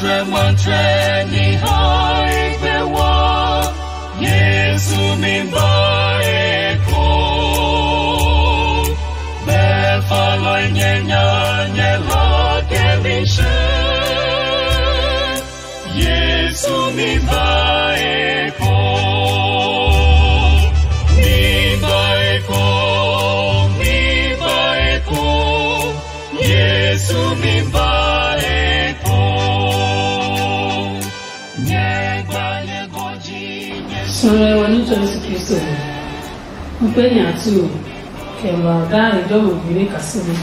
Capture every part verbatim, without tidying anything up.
Matsɛ ni hae gbe wa, Yesu mi ba eko. Be falɔi nyɛ nya nyɛ la ke mi she. Yesu mi ba eko. Mi ba eko. Mi ba eko. Yesu mi ba eko. Nyɛ gba nyɛ gɔji nyɛ. Sɔlɔ ɔ ní tsɔ Yesu Kristo ɔ, n pe nya tu kɛ ma daa e jɔ mo bi ní kaseli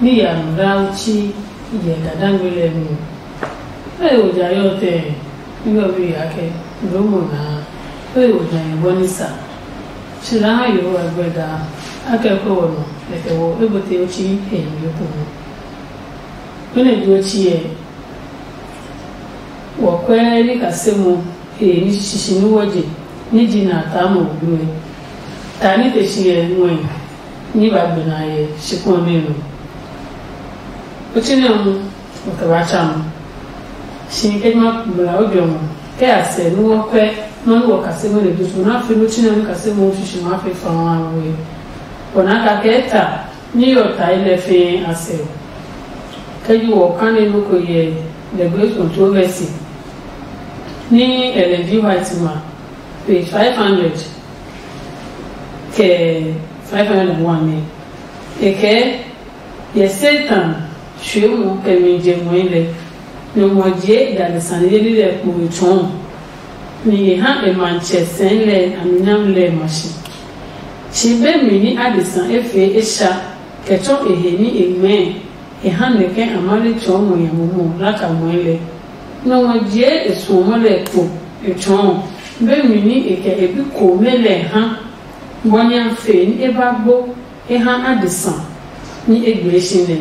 ní ya nɔ daa uchi yɛ dadangbe lɛ mi. Lɔ ɔ ja yɔ tɛ ní ɔ bi ya kɛ loo mo naa. Lɔ ɔ ja yɛ bɔ ní sa. Tsi la ha Yehowa gbɛ daa, a kɛ kɔ wɔ nɔ, kɛkɛ wɔ e bo te o tsi e yi yo ko nɔ. Mɛnɔ ji o tsi ɛ? Wɔ kɔɛ ní kasemo he ní shishishi ní wɔ je ní ji na taa mɔ wulu ɛ. Ta ní te si ɛ ngɔe ní ba gbe na yɛ shikpɔn nɛ nɔ. O tsi nɛ hu o kɛ ba tsa nɔ. Si kɛ ma bla o jɔ mɔ kɛ a sɛ ní wɔ kɔɛ nɔ ní wɔ kasemo le dusu na fi ní tsi nɛ ní kasemo shishishi ma fi fa wa we. Wɔ na ka kɛ ta ní yɔ ta ilɛ fɛɛ a sɛ. Kɛ ji wɔ kane nɔ ko yɛ the great controversy ní Ellen G. White ma, page five hundred kɛ five hundred and one nɛ. E kɛɛ, yɛ Satan suemɔ kɛ mi je ngɔi lɛ, nɔ ngɔ jie e dade sane yeli lɛ kpo e tsɔɔ, nɛ e ha e matsɛ sɛɛ lɛ a mi nyami lɛ ma shi. Tsi be mi ní adesa e fee e sha kɛ tsɔ e he ní e ngmɛɛ e ha nɛ ke a ma le tsɔɔ ngɔ nya momo laka ngɔɛ lɛ. Nɔ ngɔ jie e suɔmɔ lɛ kpo e tsɔɔ be mi ní e kɛ e bi komɛ lɛ ha, bɔ nya fe ní e ba gbo e ha adesa ní e gbee si nɛ.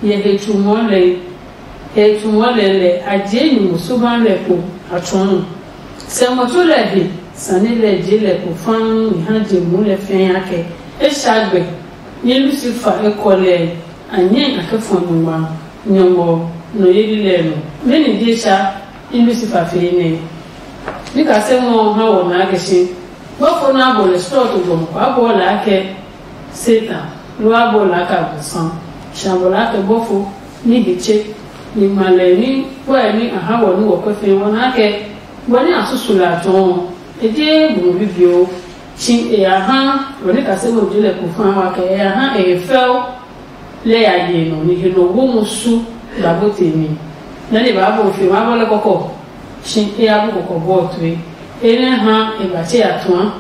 Yɛ he tsumɔ lɛ he tsumɔ lɛ lɛ a jie nyumu suba lɛ kpo a tsɔɔ. Sɛ ngɔ tso lɛ he sane lɛ je lɛ kpo faa mi ha je mu lɛ fɛɛ akɛ e sha gbɛ. Ní Lusifa ekɔlɛ a nyɛ a kɛ fɔ nyɔngma nyɔngɔ nɔ yeli lɛ nɔ. Mɛni je sha ní Lusifa fee nɛ? Ní kasɛ ngɔ ha wɔ naa kɛ si. Bɔfo nɛ a bɔ lɛ slɔɔto gɔmɔ kɔ a bɔɔ lɛ akɛ Satan, loo a bɔɔ lɛ akɛ Abosam. Shi a bɔ lɛ akɛ bɔfo ní he tse, ni ngma lɛ ní kpɔɛ ní a ha wɔ ní wɔkɔɛ fɛɛ wɔ naa kɛ bɔ ní a susu lɛ a tsɔɔ ɔ, e je bu mo bibioo. Shi e ya ha wɔ ní kaseli ɔ je lɛ kpo fa wa kɛ e ya ha e he fɛo lɛ ya ye nɔ ni he nɔ wo musu ba bɔ te mi. Nɛ ni ba bɔ fe ma bɔ lɛ kɔkɔ. Shi e ya bu kɔkɔ bɔ tue. E nɛ ha e ba tse ya tua.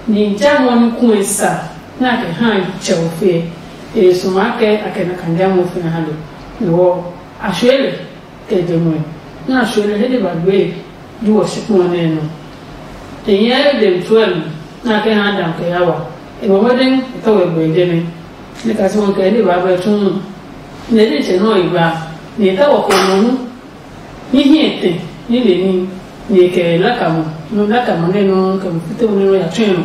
Ni ja mɔ ni ku e sa na ke ha tsɛ o fe. E su ma ke a ke na kan ja mɔ fe ha lo. Ni wo a shwe le. Kɛ je ngɔe nɛ a suɔ lɛ he nɛ ba gbee ju wɔ shikpɔɔ nɛ nɔ. E nyɛɛ dem tsuɛ mi nɛ a kɛ ha Adam kɛ Hawa. E ngɔ mɔdɛŋ e tɔ wɛ gbɛ jɛmɛ. Nɛ kasi wọn kɛ ne ba bɛ tun nɛ ne tsɛ nɔ e ba nɛ e tɔ wɔ kɔ nɔ hu ní hiɛ tɛ ní le ní nɛ e kɛ laka mɔ nɔ laka mɔ nɛ nɔ kɛ mo fite mo nɛ nɔ ya tsɔɛ nɔ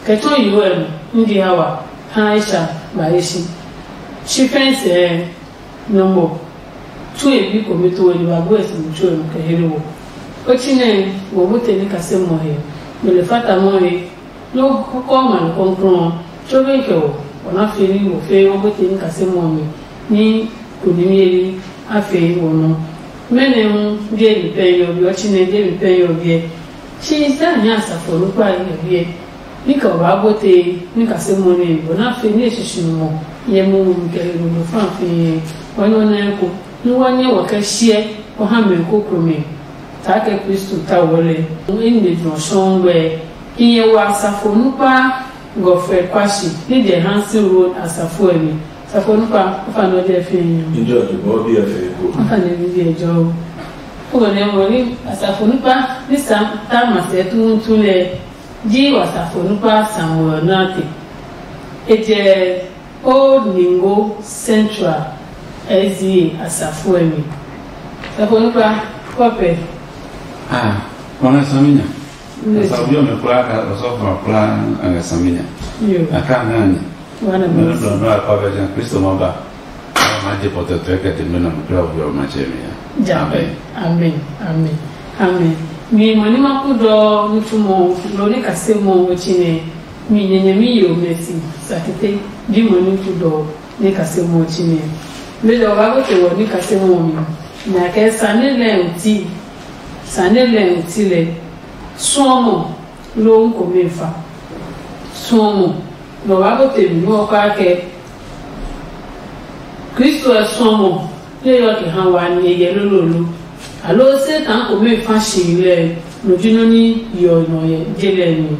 kɛ tsɔ yi wɛ nɔ ní di Hawa ha Aisha ba e si. Shi fɛn sɛɛ Nyɔngmɔ tue bi komɛ to wɛ ni ba bue si mi tsuɛ nɔ kɛ he nɛ wɔ. Otsi nɛ wɔ bu te ní kase mɔ he, mɛ le fata mɔ he, nɔ kɔkɔ ma lo kɔnkrɔn ɔ, tso be kɛ wɔ, wɔ na fe ní wɔ fe wɔ bu te ní kase mɔ mi ní ko ní mi eli a fe wɔ nɔ. Mɛnɛ hu die mi pɛ yɔ bi, otsi nɛ die mi pɛ yɔ biɛ. Shi Israel nya asafo nukpa yɛ biɛ. Ní kɛ o ba bote ní kase mɔ nɛ bɔ na fe ní e sisi mɔ yɛ mo mo kɛ e mo fa fi yɛ. Wa nyɔ na ko ní wa nyɛ wa kɛ shiɛ wa ha mɛ ko kro mɛ. Ta kɛ Kristo ta wɔ lɛ. Mo in de jɔ sɔn gbɛ. I yɛ wa asafo nukpa gɔfɛ kwashi ní jɛ Hansen Road asafo ɛ mi. Asafo nukpa o fa nɔ jɛ fi yɛ. Njɛ ɔ ti bɔ bi ɛ fɛ ko? O fa nɛ bi bi ɛ jɔ. O gɔ nɛ mo ní asafo nukpa ní sa ta ma sɛ tuutu lɛ. Ji wasafo nukpa Samuel Nate. E jɛ Old Ningo Central S D A asafo ɛ mi. Safo nukpa kɔpɛ. Ah, wana saminya. Nne. Safo yɔ me kula ka osɔfo kula anga saminya. Yo. Aka ngani. Wana Mene mo. Blɔndɔ akɔ bɛ jan Kristo ma ba. Ma je pɔtɔtɔɛ kɛ te mena mo kura wo hiɔ matsɛ mi ya. Ja. Amen. Amen. Amen. Amen. Mi mo ni ma ku dɔ nitsumɔ lo ni kase mo o chi ne. Mi nyenye mi yo mesi sa tete. Bi mo ni ku dɔ ni kase mo o chi ne. Me dɔ ba ko te wo ni kase mo mi. Na ke sa ne le o ti. Sa ne le o ti le. Suɔmɔ loo n komɛ fa. Suɔmɔ nɔ wa ko te mi nɔ kpa kɛ Kristo ɛ suɔmɔ ye yɔ kɛ ha wa ni ye lololo. Alo Satan komɛ fa si lɛ no ji nɔ ni yɔ nɔ ye je lɛ ni.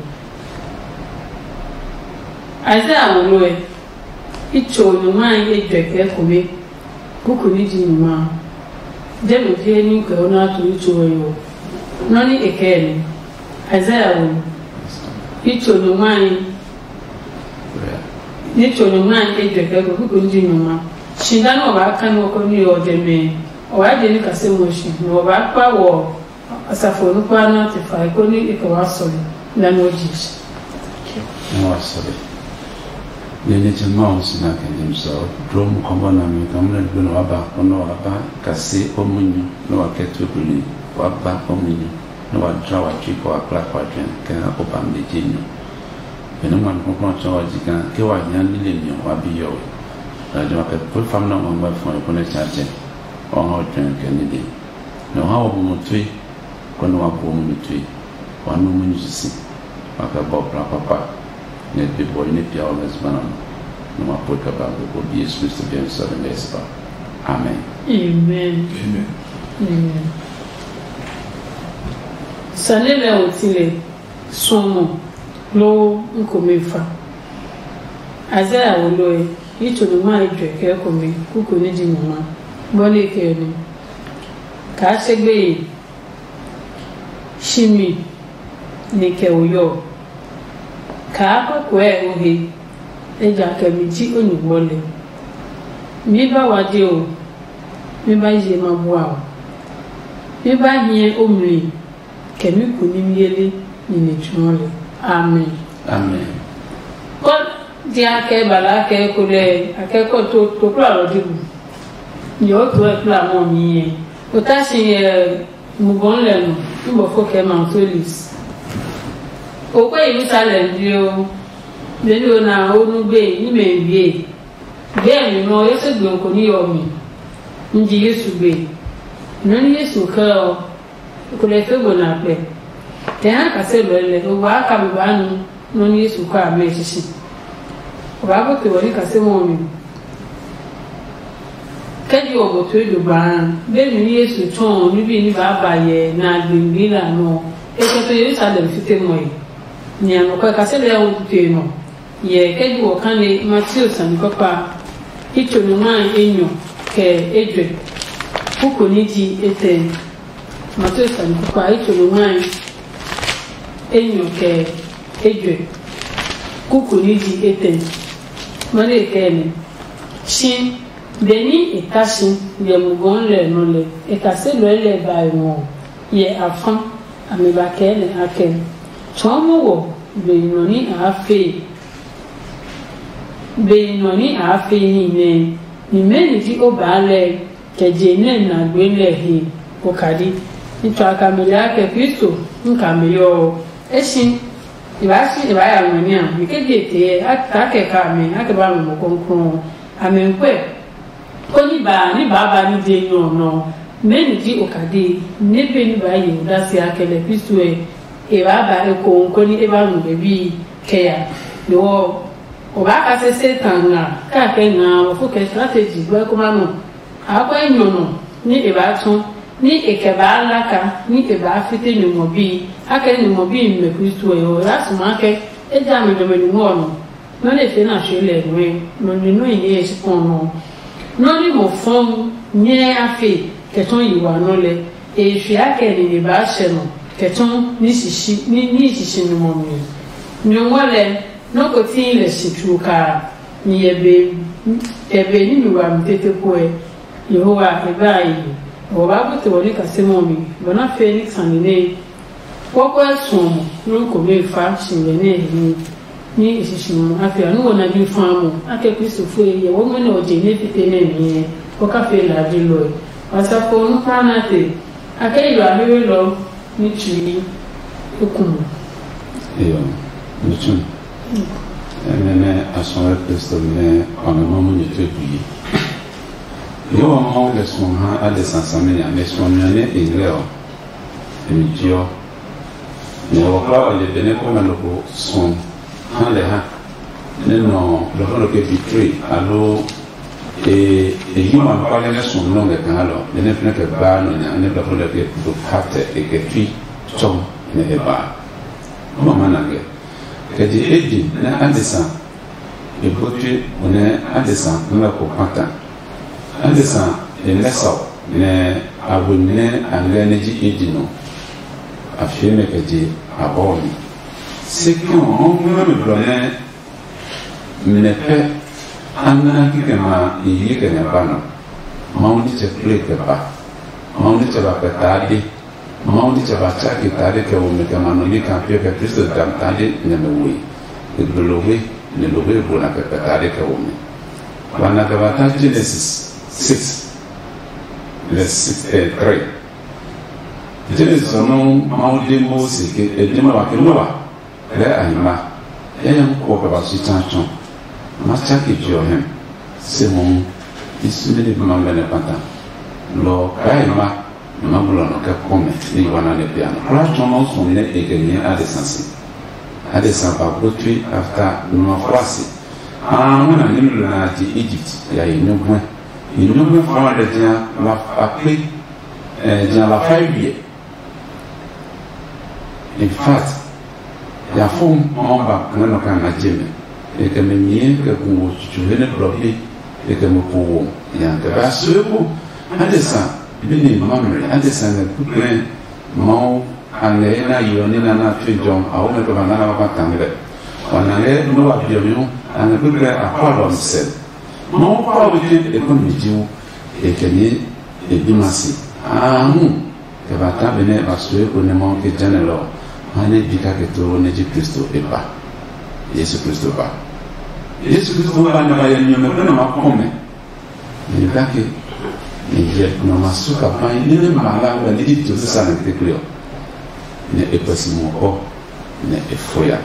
Isaiah wo lo ɛ, i tso nyuma ye jɛ kɛ komɛ. Kuku ní ji nyuma. Jɛmɛ ji he ní kɛ o nɛ a tu ní tso ɔ yo. Nɔ́ ní e kɛɛ nɛ. Isaiah wo ní tso nyuma ní ní tso nyuma ní e jɛ kɛ kuku ní ji nyuma. Shi daa nɛ o baa ka nɔ ko ní ɔ jɛmɛ, o baa je ní kase mo shi, nɛ o baa kpa wɔ Asafo nukpa nɛ a te fae konɛ e kɛ wa sɔle lɛ nɛ o je. Nɛ wa sɔle. Nɛ nitsɛ Mawu si na kɛ nyɛmi sɔ dro mu kɔbɔ nami kaa mlɛ gbe nɛ wa ba konɛ wa ba kase o munyu nɛ wa kɛ tu buli wa ba o munyu nɛ wa dla wa tsui kɛ wa kpla kɛ wa juɛ kɛ ha o ba mɛ je nyu. Benɛ ngmami kpɔkplɔ tsɔ wa ji kaa ke wa hia nile mi ɔ wa bi yɔwe. Lajɛ wa kɛ pue fam nɛ ngmangba fɔe konɛ tsa tsɛ wa ha o juɛ kɛ nile. Nɛ o ha wa bu mo tue, konɛ wa bu o munyu tue, wa nu o munyu sisi, wa kɛ bɔ bla kpakpa, nɛ be bɔi nɛ pia ɔ ngɛ zugba nɔ, nɛ wa pue kɛ ba ngɛ ko bi Yesu Kristo biɛ nɛ sɔle ngɛ e si ba. Amen. Amen. Amen. Amen. Sane lɛ ɔ ti lɛ suɔmɔ loo n komɛ fa. Isaiah wo lɔɛ yi tso nungma e juɛ kɛ komɛ kuku ní ji nungma. Bɔ ní e kɛ ɔ nɛ kaa se gbeye. Shi mi ni kɛ o yɔ, kaa kɔkuɛ o he, ejakaa mi ji o nyugbɔ lɛ. Mi ba wa je o, mi ba ye ma bua o, mi ba hiɛ o mli kɛ mi kunimyeli nine tsuɔ lɛ. Amen. Amen. Kɔ dia kɛ bala kɛ ko lɛ a kɛ kɔ to to kpla lɔ dibu. Nyɛ o to ɛ kpla mɔ mi yɛ. O ta si yɛ Mugɔn lɛ nɔ, nbɔfo kɛ Mount Olives. O kpɛ Yerusalem dioo, benɛ o na o nu gbe ní mɛ wie. Gbe mi nɔ Yesu gbe ko ní yɔ mi. N ji Yesu gbe. Nɔ ní Yesu kɛ ɔ, ko lɛ fe gbo na kpɛ. Tɛ ha kase lɔ lɛ, o waa ka mi ba nu. Nɔ ní Yesu kɔ amɛ sisi. O ba ko te wɔ ní kase mɔ mi. Kɛji o ko to ejo gbaa, be mi ní Yesu tsɔɔ ní bi ní ba ba yɛ na gbingbi la nɔ. E kɛ to Yerusalem fite mɔe. Ni anɔkwɛ kase lɛ o te nɔ. Yɛ kɛji wɔ kane Mateo sani kpakpa. Itso nungma enyɔ kɛ ejwe. Kuko ní ji etɛ. Mateo sani kpakpa itso nungma enyɔ kɛ ejwe. Kuku ní ji etɛ. Mane kɛ ni. Shi benɛ e ta si yɛ mugɔ lɛ nɔ lɛ, e kase lɔɛ lɛ ba e ngɔ yɛ afa. Amɛ ba kɛɛ lɛ akɛ, tsɔɔ mo wɔ be nɔ ní a fe, be nɔ ní a fe ní nɛ. Ni mɛni ji o baa lɛ kɛ je nɛ na gbe lɛ he okadi. Ní tsɔ a ka mɛ lɛ akɛ Kristo n ka mɛ yɔ ɔ, e si e baa si e baa ya ngmɛ ní a mi ke je tee a ta kɛ ka mɛ a kɛ ba ngmɔ kɔnkɔn. Amɛ n kwɛ koni ba ní baaba ní je nyɔ ɔ nɔ. Mɛni ji okadi nɛ be ní baa ye odase akɛ lɛ Kristo ɛ e baa ba ekohu koni e ba nu e bi kɛ ya? Lo ɔ, o baa kase Satan nga kake nga ɔ fo kɛ strategy gbɛ kó ma nɔ. Akɔe nyɔ nɔ ní e baa tsɔ ní e kɛ baa laka ní e baa fite nyɔngmɔ bii. Akɛ nyɔngmɔ bii mɛ Kristo ɛ ɔ, e baa sumaa ke e ja mi nɔmɛ nungɔ nɔ. Nɔ́ nɛ e fee nɛ a tsɔɔ lɛ nɔe, nɔ nɛ nɔ́ hi nɛ e si kpɔ nɔ. Nɔ́ nɛ mo fɔn nyɛɛ a fe kɛ tsɔɔ yi wa nɔ lɛ, e fiɛ akɛ nine baa hyɛ nɔ kɛ tsɔɔ ní sisi ní ní sisi nɔ mɔ mi. Nyɔngma lɛ, nɔ́ ko tii lɛ si tsuo kaa, ni yɛ be yɛ be ní mi wa mi tete puɛ. Yehowa e ba a yi, nɛ wa ba bute wɔ ní kaseli ɔ mi, bɔ na fee ní sane nɛ kpɔkɔɛ suɔmɔ nɔ́ komɛ fa si ngɛ nɛ he ní. Ní e sisi ɔ, a fia nú ɔ na ji faa mo, a kɛ Kristofo e hyɛ wo mɛnɔ ɔ je nɛ fite nɛ miɛ, kɔ ka fee lajilɔe. Wa sa ko nú kpa na te, a kɛ yi wa hewe lɔ ní tsui eku mo. Iyo, mi tsu. Ɛnɛ nɛ a suɔ Kristo nɛ ɔ nɔ nɔ munyu tue bui. Yehowa Mawu lɛ suɔ ha adesa saminya, nɛ suɔmi ɔ nɛ e ngɛ ɔ, e mi jiɔ. Nɛ wɔkla ɔ le benɛ kɔmɛ nɔ ko suɔ ha lɛ ha, nɛ nɔ blɔfo nɔ ke betray, aloo e e yi ma kpale nɛ suɔ nɔ ngɛ kaa lɔ, nɛ nɛ fɛnɛ kɛ baa nɔ nya, nɛ blɔfo nɔ ke do patɛ e kɛ tui tsɔ nɛ e baa. Mama na ngɛ kɛ je eji nɛ adesa e botwe nɛ adesa ngɛ ko pata. Adesa e ngɛ sa nɛ a we nɛ a ngɛ nɛ ji eji nɔ, a fie mɛ kɛ je abɔɔ mi. Se kɛ ɔ, Mawu ngmɛ́ mi blɔ nɛ mɛ pɛ a ngmɛ́ kikɛ ma a yi kɛ ngɛ ba nɔ. Mawu nitsɛ kple kɛ ba. Mawu nitsɛ ba kpɛtaa de. Mawu nitsɛ ba tsake tade kɛ wo mi kɛ ma nɔ ní kaa pee kɛ Kristo dam tade nɛ mɛ woe. E gbe lohwe, nɛ lohwe e bo na kpɛkpɛ tade kɛ wo mi. Wa na kɛ ba ta Genesis six, verse six, eh, three. Genesis ɔ nɔuu Mawu de Mose ke e de Noa ke Noa, lɛɛ a hi ma. Yayami kɔ kɛ ba su tsa tsɔ. Ma tsake je ɔ hɛ. Se mohu i sumi ni ma ngmɛ nɛ kpata. Lɔ kaa e ma, nɛ ma bulɔ nɔ kɛ kpɔ mɛ ni yi wana nɛ pia nɔ. Kula tsɔ nɔ sɔ nɛ e kɛ nyɛ adesa si. Adesa ba gbotui afta numa fua si. Aa wana ni lo na je Egypt ya yi nyɔguɛ. Yi nyɔguɛ fa lɛ jia la akpe, eh, jia la fai wiɛ. In fact, ya fo Mawu ba kpɛngɛ nɔ kɛ a ngɛ je mɛ. E kɛ mɛ nyɛɛ kɛ gu wo tsutsu he nɛ blɔ be, e kɛ mɛ po wo nya kɛ ba so eko. Adesa bi ni Mamre, adesa ngɛ kpukplɛ Mawu a ngɛ he na yeɔ ní na na tue jɔ a wo mɛ kɛ ba ngana ba kpa tangmɛ. Wa na ngɛ Noa biɔ mi hu a ngɛ kpukplɛ a kpa lɔ mi sɛ. Mawu kpa wo ke e kɔ mi ji wu, e kɛ ni e bi ma si. Aa hu. Kɛ ba ta benɛ ba sue ko nɛ Mawu ke jane lɔ ɔ, ha nɛ bi kake tloo nɛ ji Kristo e ba. Yesu Kristo ba. Yesu Kristo ba nɛ ba yɛ nyɔmɛ ko nɛ ma kɔ mɛ. Ni kake ni yɛ nɔ ma su ka pai ni nɛ ma la ba ni ji Jerusalem kekle ɔ. Nɛ e pɛ si mo kɔ nɛ e fo ya.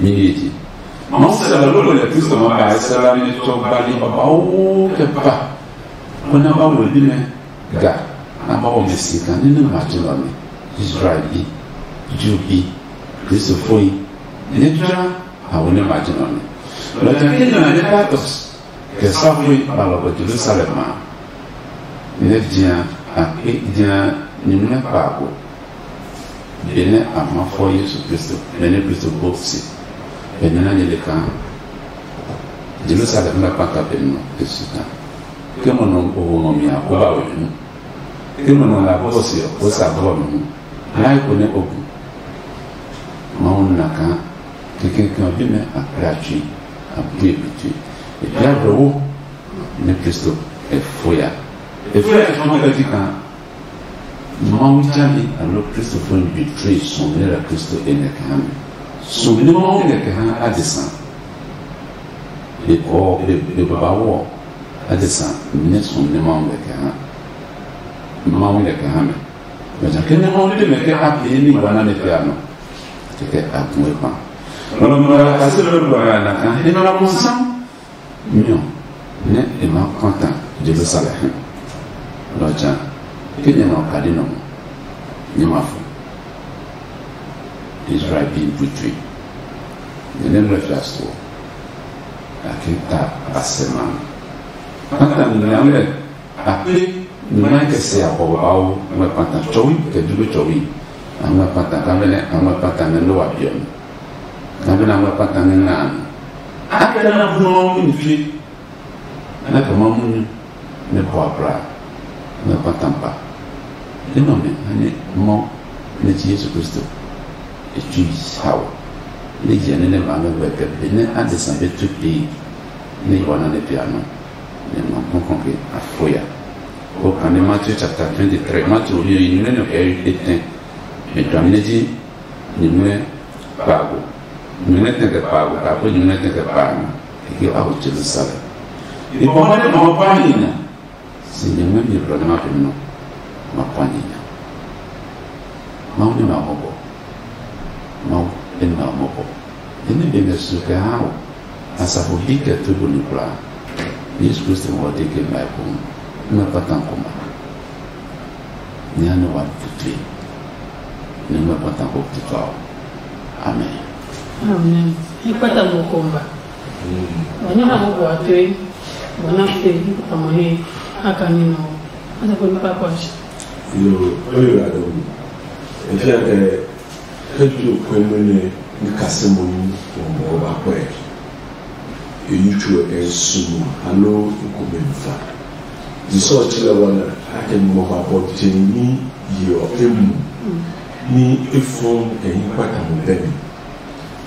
Ni ye ji. Mawu sɛ la lolo lɛ Kristo ma ba e sɛ la ni tsɔ ba ni ba ba o kɛ ba. Ko na ba wo bi mɛ. Ga, a ba wɔ mɛ si kaa ní nɛ ma tsu lɔ mi, Israel bi, Ju bi, Kristofoi, nɛ tsuaa a wo nɛ ma tsu lɔ mi. Lɔ ja ke nɛ nɛ Pilatus kɛ safoi ba lɔ bɔ Jerusalem a, nɛ dia a kpe dia nimlɛ kpaa ko. Benɛ a ma fɔ Yesu Kristo, benɛ Kristo gbo si, benɛ na nyɛ le kaa Jerusalem na kpata be nɔ e su kaa. Ke mo nɔ o wo ngɔ mi a, o ba we mi hu. Ke mo nɔ la bɔ se ɔ, o sa bɔ mi hu. Lai ko nɛ o bu. Mawu na kaa kɛkɛ ɔ bi mɛ a kpla tsui, a bue bi tsui. E bia blɔ wo nɛ Kristo e fo ya. E fo ya tsɔ ma kɛ ti kaa Mawu tsali aloo Kristofo nɛ betray suɔmi nɛ la Kristo e ngɛ kɛ ha mi. Suɔmi nɛ Mawu ngɛ kɛ ha adesa. E kɔɔ e e baba wɔ adesa nɛ suɔmi nɛ Mawu ngɛ kɛ ha. Mawu ngɛ kɛ ha mɛ. Mɛ ja ke nɛ Mawu de mɛ ke a pee ni wa na ne pe a nɔ. Kɛkɛ a gu e kpa. Lɔlɔ mɛ la kasi lɔ lɔ ya na ka he na la mo sam. Nyɔ nɛ e ma kpata Jerusalem. Lɔ ja ke nyɛ ma kadi nɔ mo. Nyɛ ma fo. Israel bi butui. Nyɛ ne mlɛ fia so. A ke ta a sɛ ma. Kpata nɛ amlɛ. A kple nyumu kɛ se a kɔbɔ bawo ngmɛ kpata tsɔwi kɛ dubu tsɔwi. A ngmɛ kpata kamɛ nɛ a ngmɛ kpata nɛ Noa biɔ mi. Kamɛ nɛ a ngmɛ kpata nɛ nga a mi. A kɛ na bu nɔ mi tue. Nɛ kɛ ma munyu nɛ bɔ abla ngmɛ kpata ba. Enɔ mɛ ha nɛ mɔ nɛ ji Yesu Kristo. E tsui hawo. Nɛ yɛ nɛ nɛ ba ngmɛ gbɛ kɛ be nɛ adesa be tu pee nɛ yi wana nɛ pia nɔ. Nɛ ma kɔkɔ ke a fo ya. Ko kane Matthew chapter twenty-three, Matthew ɔ yi nɛ nɔ kɛ etɛ. Me dwam nɛ ji nyumu kpaago. Nyumu nɛ tɛ kɛ pa ko ka ko nyumu nɛ tɛ kɛ pa na. E ke a wo Jerusalem. E bɔ ma ne ma pa ni na. Si nyumu mi blɔ ne ma pe no. Ma pa ni na. Ma wo ne ma mo ko. Ma wo ne ma mo ko. Ni be ne su kɛ ha wo. Asafo hi kɛ tu bu ni kula. Yesu Kristo mo de ke ma ko. Ma pa tan ko ma. Ni ano wa tutui. Ni ma pa tan ko tutui. Amen. Amen. Ni pa tan ko komba. Wani ha mo kwa tue. Wana fe ni pa mo he. Aka ni no. Asa ko ni pa kwa shi. Yo, oyo ado. Efia ke ke tu ko mo ne ni kasemo ni ko mo ba kwe. Eyi tsuo kɛ sumu alo ekomɛ fa. Disɔ tsi lɛ wɔna akɛ mɔ ba bɔ jɛmi yeɔ emu ni efɔn kɛ yi kpata mo bɛ mi.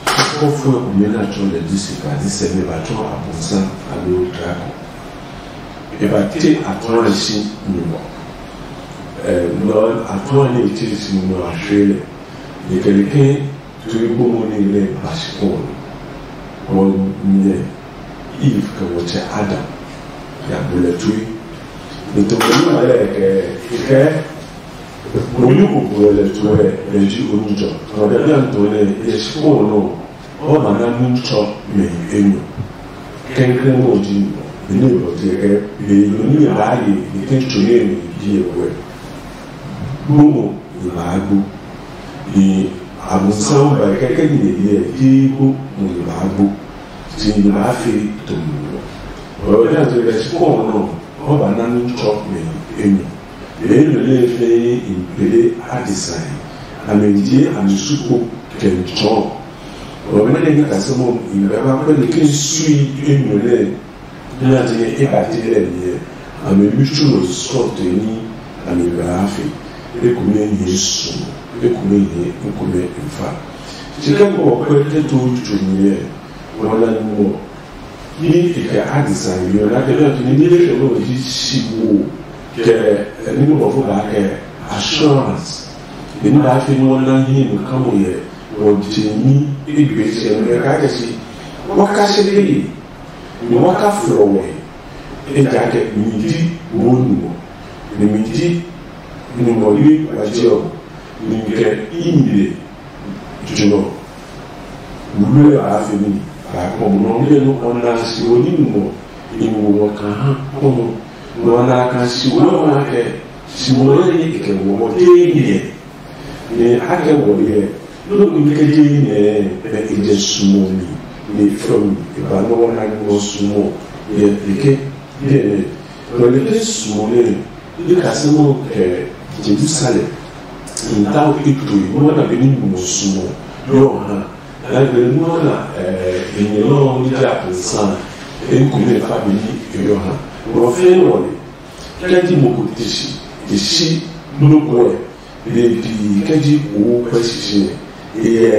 Kɔfo ekomɛ na tsɔ lɛ di sika di sɛ mi ba tsɔ abonsa alo drako. E ba te atɔrɔ si nyumɔ. Ɛ lɔ atɔrɔ ni ti si nyumɔ ahwe lɛ. Nikalike tui bumuni nɛ ba si kɔɔ nɔ. Wɔ nyɛ Eve kɛ wɔ tsɛ Adam ya bu lɛ tui. Nito mo nyi ma lɛ kɛ kɛ mo nyi ko bu lɛ tu wɛ lɛ ji o nyi jɔ. Nɔ bɛ bia nto nɛ yɛ si kɔɔ nɔ. Ɔ ma na nu tsɔ mɛ yi enyɔ. Kɛnkɛn mo ji nɔ. Ni mo ti kɛ be yo ni ba ye ni ke tso ye ni bi ye wɛ. Gbomo nyɛ baa gbo. Ni Abosiam ba kɛkɛ ni nyɛ hyɛ ti gbo mo nyɛ baa gbo. Ti nyɛ baa fe to mo. Ɔ ya je kɛ si kɔ nɔ, ɔ ba na nu tsɔ mɛ enyɔ. Mɛ enyɔ lɛ fɛ in pele adesai. A mɛ je a mi su ko kɛ n tsɔ. Ɔ mɛ ne ka se mo in ba ba ko ni ke sui enyɔ lɛ. Nna ji nɛ e ba ti lɛ mi ɛ, a mi mi tsu nɔ sɔtɔe ní a mi ngmlaa fe, ekomɛ nyɛɛ suɔ, ekomɛ nyɛɛ ekomɛ nfa. Tsi kɛ bɔ kpɛ kɛ to tsu mi ɛ, wɔ na nɔ ní e kɛ adesa yi ɔ na kɛ bɛ tuni ní lɛ kɛ bɛ wɔ yi si wo kɛ ní bɔ fo ba kɛ assurance. Ní ba fi ní wɔ na hi nɔ ka mo yɛ wɔ je ní egbe sɛ mɛ ka kɛ si wɔ ka se lɛ yi. Ni wa ka flɔ wɛ, ejakaa mi ji wo numɔ, ni mi ji numɔ yi wa je ɔ, ni mi kɛ i mi le jɔ. Wulu ɛ baa fi mi, baa kpɔ mo nɔ mi le nɔ ɔ na si wo ni numɔ, ni wo wɔ ka ha kpɔ mo, nɔ na ka si wo nɔ na kɛ si wo nɔ ni kɛ wɔ wɔ tee mi ɛ. Nɛ a kɛ wɔ hyɛ, nɔ́ ko nɛ kɛ je yi nɛɛ nɛ e jɛ sumɔ mi, nɛ e fiɔ mi, e ba nɔ́ wɔ na nɔ sumɔ yɛ e ke biɛ nɛ. Nɔ nɛ ke sumɔ nɛ e kasɛ nɔ kɛ Yerusalem, n ta o e to e nɔ́ na be ní mɔ sumɔ yɔ ha. Na gbɛ nɔ́ na e nyɛ nɔ́ ní ja nsa e ku nɛ fa be ní e yɔ ha. Nɔ fɛɛ nɔ nɛ kɛ ji mo ko te si, e si nɔ́ ko ɛ. Be pi kɛ ji wo kpɛ sisi nɛ e yɛ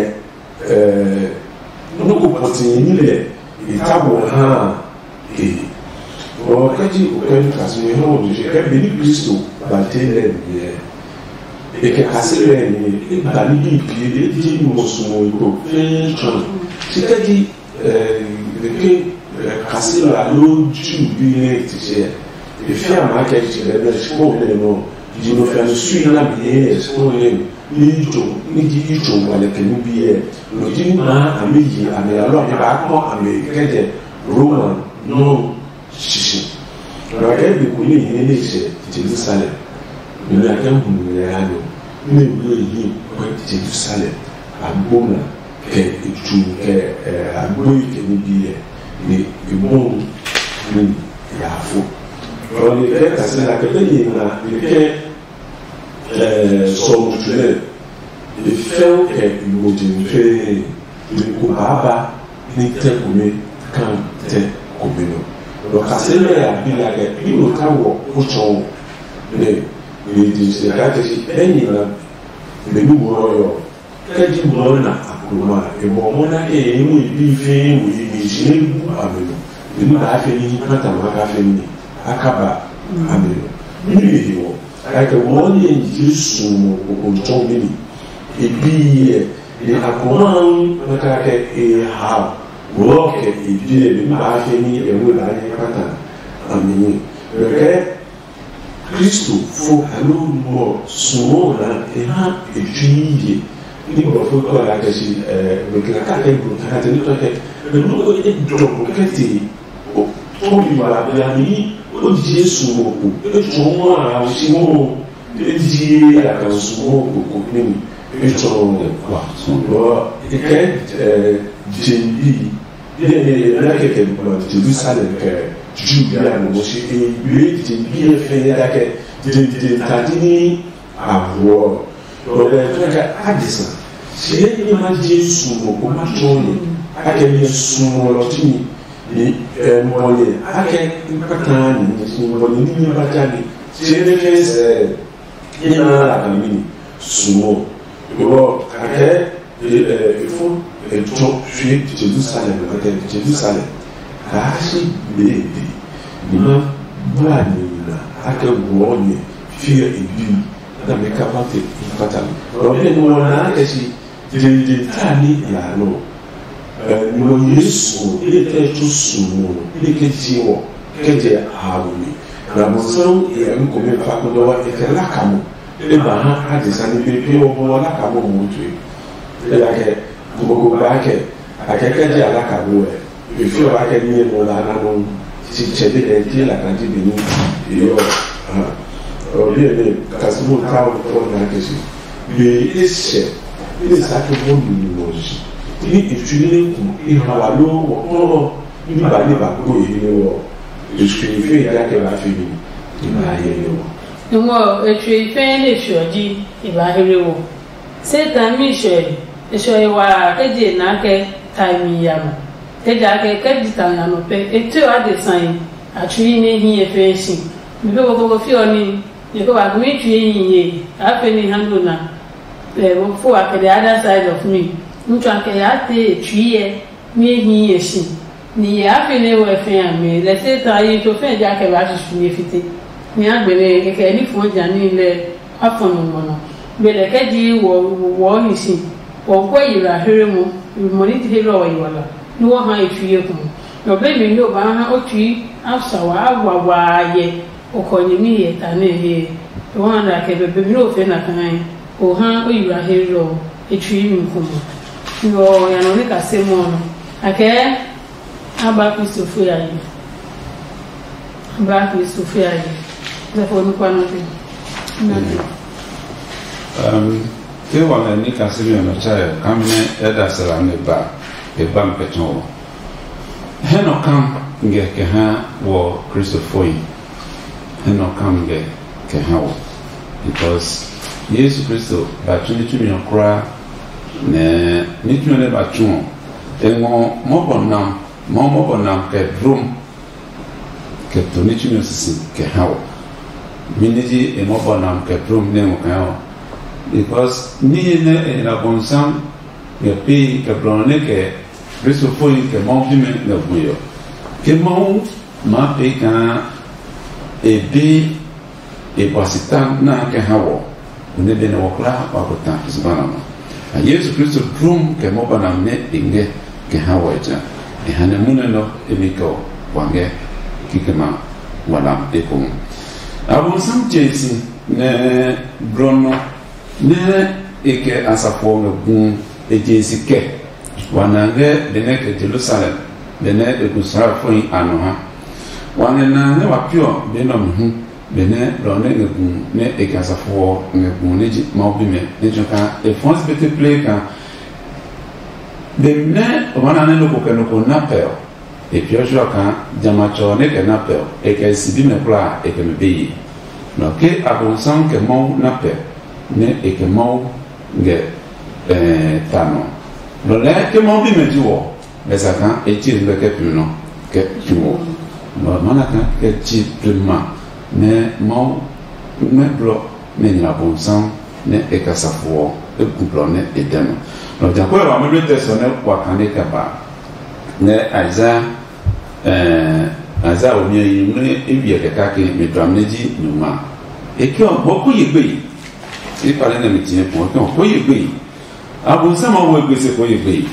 nɔ́ ko pɔtɛɛ ní lɛ e ta bɔ ha e. Bɔ kɛ ji o kɛ kasi mi hɔn o je kɛ be ni Kristo ba te lɛ mi yɛ e kɛ kasi lɛ mi e ba ni bi pi e ji mo sumo ko fɛɛ tɔn si kɛ ji Ɛɛ, ke, ɛɛ, kaselo alo Ju bi nɛ ti sɛ, e fia ma kɛ ti lɛ nɛ sikpɔŋ nɛ nɔ, yi nɔ fia no sui na mi nɛ sikpɔŋ nɛ ni jo, ni ji yi jo wa lɛ kɛ ni bi yɛ, nɔ ji ni maa a mi yi a mi alo a mi ba kpɔ a mi kɛ jɛ Roma nɔ sisi. Nɔ kɛ bi ko ni yi ni sɛ Jerusalem, ni na kɛ hu ni ya nɔ, ni wu yi kɔ Jerusalem, a gbo na. Kɛ e tu kɛ ɛ agboi kɛ ní bi ɛ ni e bɔn ní ya fo. Ɔ ni kɛ kasɛ na kɛ bɛ ni na ni kɛ ɛ sɔmu tu nɛ e fɛo kɛ igbo di ni fɛɛ ni ko baaba ní tɛ kome kan tɛ kome nɔ. Nɔ kasɛ nɛ ya bi la kɛ bi no ta wɔ ko tsɔ nɛ ni di se ka te si ɛni na mɛ ni wɔ yɔ. Kɛ ji mɔ na akloma e bɔ mɔ na ke ye mu bi fe mu ye mi ji ne bu a me no. Ni ba fe ni ka ta ma ka fe ni a ka ba a me no. Ni le he wɔ. Ka ke wɔ ni ye ji su mo ko ko to mi ni. E bi ye Ni a ko maa hu nɛ kake e ha wɔ kɛ e biɛ mi ba ke ni e we la ni kpata a mi ni. Kɛkɛ Kristo fo alo mɔ suɔ na e ha e tsui ye. Ni bɔ fo kɔ la kɛ si ɛ we kla ka kɛ bu ta ka te ni tɔ kɛ. Enu ko e dɔ ko kɛ te o o mi ba bia mi o je suɔ ko e tsɔ mɔ a o si mɔ. Ejie a kan sumo koko nimi etsɔ ngɛ kwa. Bɔ e kɛ jembi yɛ ne yɛ na kɛkɛ ma Jerusalem kɛ Judea no mo si e yue jembi yɛ fɛ yɛ da kɛ jembi tadi ni a wuɔ. Bɔ bɛ fɛ kɛ adisa si yɛ ni ma je sumo ko ma tsɔ ne a kɛ yɛ sumo lɔ ti mi. Ni ɛ mɔye akɛ kpataa ni ni mɔye ni nyɛ ba ja ni se ne ke sɛ ni na la ka mi ni sumo. Bɔ akɛ ɛ efo etsɔ fie Jerusalem akɛ Jerusalem kaa si gbede ni ma bua ni na akɛ wɔ ni fie ebi na me ka ba te kpata mi. Bɔ bi ni wɔ na akɛ si Dindin ta ní ya nɔ. Nɔ Yesu ɔ, e tɛ tso sumo nɔ, e ke ji wɔ kɛ jɛ a wo mi. Na bonsam e ya ko me fa ko dɔ wa e kɛ la ka mo. E ba ha a de sani pe pe wɔ bɔ la ka mo mo tue. E ya kɛ ko ko ba kɛ a kɛ kɛ jɛ a la ka mo wɛ. Efio ba kɛ niye nɔ la na nɔ si tsɛ de kɛ tie la kan ji be ni. Iyo. Ɔ bi ne kasimo ta o ko na ke si. Be e sɛ e sa ke mo ni ni mo ji. Ni e fi ne ku e ha wa lo mo ko ni ba ni ba ko e ne wo. E fi fe ya ke ba fi ni. Ni ba ye ne wo. Ngɔ e fi fe ne fi o ji e ba he wo. Satan mi sɔe, e sɔe waa kɛ je na kɛ tae mi ya nɔ. Kɛ ja kɛ kɛ ji ta nya nɔ pɛ, e tue adesa yi a tsui nɛ hi e fɛɛ si. Mi pe ko ko fi ɔ ni, ye ko ba mi tsui yi ye, a fe ni handle na. Eh, wo fo a kɛ the other side of me. N tsua kɛ ya te e tsui yɛ. Ni e hi e si. Ni e a fi ne wɔ fɛ a mi lɛ se ta yi to fɛ ja kɛ ba susu ye fite. Ni a gbele kɛkɛ ni fo ja ni lɛ a fɔ no mo no. Gbele kɛ ji wɔ wɔ ni si. Wɔ ko yi la here mo. Mo ni te he lɔ yi wala. Ni wɔ ha e fi ye kun. No be mi no ba ha o tui a sa wa a wa wa ye. O kɔ nyɛmi hyɛ ta nɛ he. O ha nɛ a kɛ bɛbɛ mi nɛ o fɛ na kaa o ha o yura he lɔ e tsui mi ko mɔ. Yo ya nɔ ni ka se mɔ nɔ. A kɛ a ba Kristo fo ya yi. A ba Kristo fo ya yi. Zɛ fo nu kwa nɔ te. Na te. Um, ke wa nɛ ni ka se mi nɔ cha ya. Kam ne e da sara ne ba. E ba mi pɛ tɔn. He nɔ kam ngɛ kɛ ha wɔ Kristo fo yi. He nɔ kam ngɛ kɛ ha wɔ. Because Yesu Kristo ba tsu ní tsumi ɔ kulaa, nɛ ní tsumi ɔ nɛ ba tsu ɔ, e ngɔ mɔbɔ nam, mɔ mɔbɔ nam kɛ drom kɛ to ní tsumi ɔ sisi kɛ ha wɔ. Mi ní ji e mɔbɔ nam kɛ drom nɛ ngɔ kɛ ha wɔ. Because ní nɛ e hla bɔnsam ngɛ pee kɛ blɔ nɛ kɛ Kristo foyi kɛ Mawu bimɛ ngɛ gbe ɔ. Ke Mawu maa pee kaa e be e bua si ta na kɛ ha wɔ, o nɛ be nɛ wɔ kulaa wa ko ta zugba na ma. A Yesu Kristo dlum kɛ mɔbɔ na nɛ e ngɛ kɛ ha wɔ ja. E ha nɛ munɛ nɔ e mi kɛ wa ngɛ kikɛ ma wa lam ekohu. Abonsam je si nɛ blɔ nɔ nɛ e kɛ asafo ɔ ngɛ gu e je si kɛ wa na ngɛ benɛ kɛ Jerusalem benɛ e gu Israelfohi a nɔ ha. Wa ngɛ na ngɛ wa piɔ be nɔ mi hu benɛ lɔ nɛ ngɛ gu nɛ e kɛ asafo ɔ ngɛ gu nɛ ji Mawu bimɛ nɛ tsɔ kaa e fɔɔ si pete plee kaa benɛ o ma na nɛ nɔ ko kɛ nɔ ko na pɛ ɔ, e piɔ tsuɔ kaa jamɛ a tsɔ nɛ kɛ na pɛ ɔ, e kɛ si bimɛ kulaa e kɛ mɛ be ye. Nɔ ke Abonsam kɛ Mawu na pɛ nɛ e kɛ Mawu ngɛ ta nɔ. Nɔ lɛɛ ke Mawu bimɛ ji wɔ, lɛ sa kaa e tsie ngmɛ kɛ pli nɔ kɛ pli wɔ. Nɔ ma na kaa kɛ tsie pli ma nɛ Mawu ngmɛ blɔ nɛ nyina Abonsam nɛ e kasa fo ɔ, e gu blɔ nɛ e dɛ nɔ. Nɔ ja kɔɛ wa mɛ nɔ tɛ sɔ nɛ wa kane kɛ ba nɛ Isaiah ɛɛ Isaiah o miɛ yi nɛ e wiɛ kɛ kake mi dua mi ji nyuma. E ke ɔ bɔ ko ye gbe yi. E kpale nɛ mi tiɛ pɔ ke ɔ ko ye gbe yi. Abonsam a wo egbe se ko ye gbe.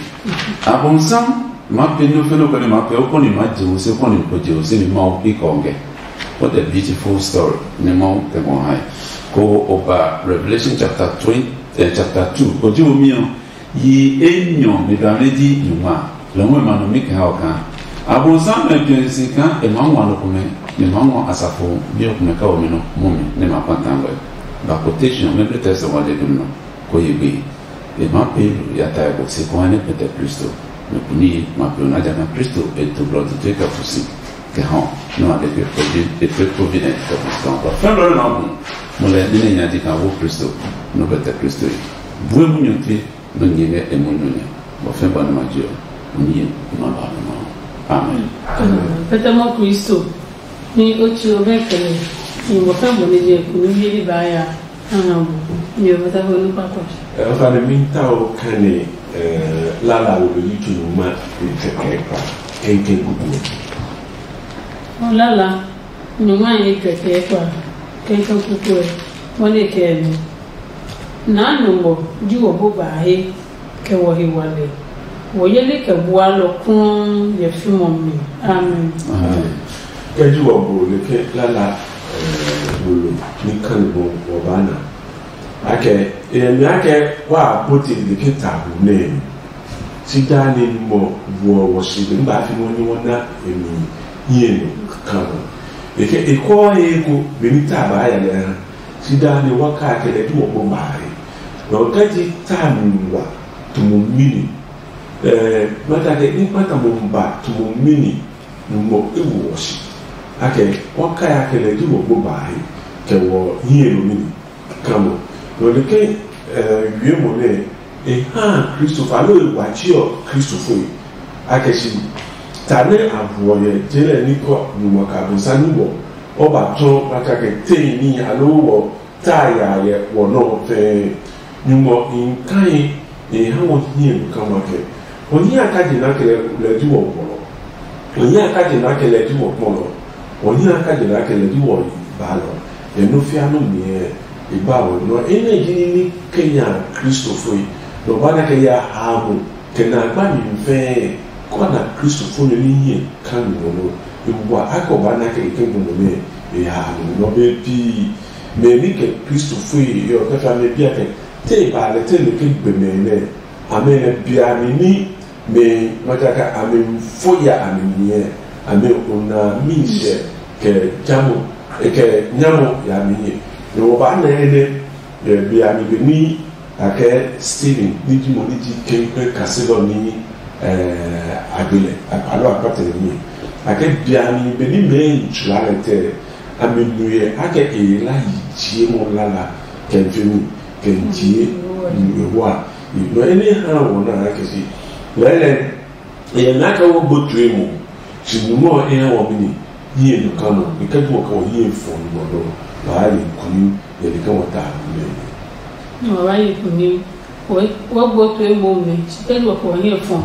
Abonsam ma pe no fe no ko ne ma pe o ko ni ma je wo se ko ni ko je wo se ni ma o ki ko nge. What a beautiful story. Ne ma o ke mo hai. Ko o ba Revelation chapter twenty, eh, chapter two. Ko je wo mi o. Yi enyɔ mi ba ne di nyuma. Lo mo ma no mi ke ha o kan. Abonsam me je se kan e ma wa no ko me. Ne ma wa asafo bi o ko me ka o mi no mo mi ne ma pa tan we. Ba quotation me be test wa de dum no. Ko ye gbe. E ma pe lu ya ta ko se ko ne pete Kristo. Me kuni ma pe na ja na Kristo e to blo to te ka fusi. Ke ha. No a de ke provi e pe providence ka fusi. Ba fa lo na bu. Mo le ni ne nya di ka wo Kristo. No pete Kristo. Bue mu nyo te no nyɛ ngɛ e munyu nya. Bɔ fɛ̃ bɔ nɛ ma je ɔ, o ní ye ma ba nɔ ma. Amen. Pɛtɛmɔ Kristo ní ó tsi ɔ bɛ kɛlɛ, nyumbɔ fɛ̃ bɔ nɛ je kunu yeli ba ya. Aha bu nyumbɔ fɛ̃ bɔ ní kpakpa. Ɛfa ne mi ta o kane lala wo lo yi tu ma. Kɛkɛ kpa kɛnkɛn kuku. Ɔ lala nyuma ye kɛkɛ kpa kɛnkɛn kuku ɛ. Mɔ ne kɛ ɛ nɔ. Naa nɔ ngɔ ji wɔ bo ba he kɛ wɔ he wale. Wɔ yeli kɛ bua lɔ klɔɔ yɛ fimɔ mi. Amen. Kɛ ji wɔ bo le ke lala bolo ni kan bo wɔ ba na. Akɛ e mi akɛ wa bo ti le ke ta bu ne. Si da ne mɔ wɔ wɔ si be ba fi mo ni wɔ na e mi. Yie no kan. E ke e kɔ e ko be ni ta ba ya le ha. Sida ne wa ka kɛ lɛ tu wɔ bɔ baahi. Nɔ kɛ ji ta mi wa tumu mini. Ɛɛ mata kɛ ni kpata mo ba tumu mini. Mo e wo wɔ si. Akɛ wa ka ya kɛ lɛ tu wɔ bɔ baahi. Kɛ wɔ hiɛ no mini. Kamo nɔ de kɛ ɛɛ wie mo nɛ. E ha Kristofo alo e wa tsi ɔ Kristofo e. Akɛ si ta nɛ a buɔ yɛ je lɛ ní kɔ nyumu ɔ kɛ abonsami bɔ. Ɔ ba tsɔ ba kake tei ní alo wɔ taa ya yɛ wɔ nɔ fɛɛ. Nyumu ɔ i kai e ha wɔ hiɛ nukama kɛ. Wɔ hiɛ a ka je na kɛ lɛ ji wɔ gbɔlɔ. Wɔ hiɛ a ka je na kɛ lɛ ji wɔ kpɔlɔ. Wɔ hiɛ a ka je na kɛ lɛ ji wɔ baalɔ. Yɛ nɔ fia nɔ miɛ e ba wɔ nɔ enɛ ji ní ní kenya kristofoi. Nɔ ba na kɛ ya ha mo kɛ na gba mi fɛɛ. Kɔ na kristofo nyo ní hiɛ ka mi wɔ nɔ. E wa akɔ ba na kɛ ke gbɔmɔ nɛ e ha mo nɔ be pii. Mɛ ní kɛ kristofo yi yɔ kɛ fa mɛ bia kɛ te ba lɛ te lɛ ke gbɛmɛ nɛ. Amɛ nɛ bia mi ní mɛ mataka amɛ fo ya amɛ niɛ. Amɛ ona mi sɛ kɛ jamo kɛ nyamo ya mi nyɛ. Nɔ ba nɛ nɛ bia mi be ní. Akɛ Stephen ní ji mo ní ji kɛnkɛn kaselɔ ní agbelɛ alo akpatɛ ní. Akɛ biami be ní mɛɛ yi tsula lɛ tɛ. Ame nu yɛ akɛ e la yi jie mo lala kɛ n fi mi kɛ n jie nu ewa. Nɔ ene ha wɔ na akɛ si lɛlɛ. Yɛ na kɛ wo gbotue mo. Si numɔ e ha wɔ mi ni. Hiɛ nu ka mo e kɛ ju wɔ kɛ wɔ hiɛ fɔ numɔ dɔ. Baa ye kuni yɛ ni kɛ wɔ ta nu lɛ. Wa ba yi kunim. Wo gbo to emo mi. Sike lo ko nye fo.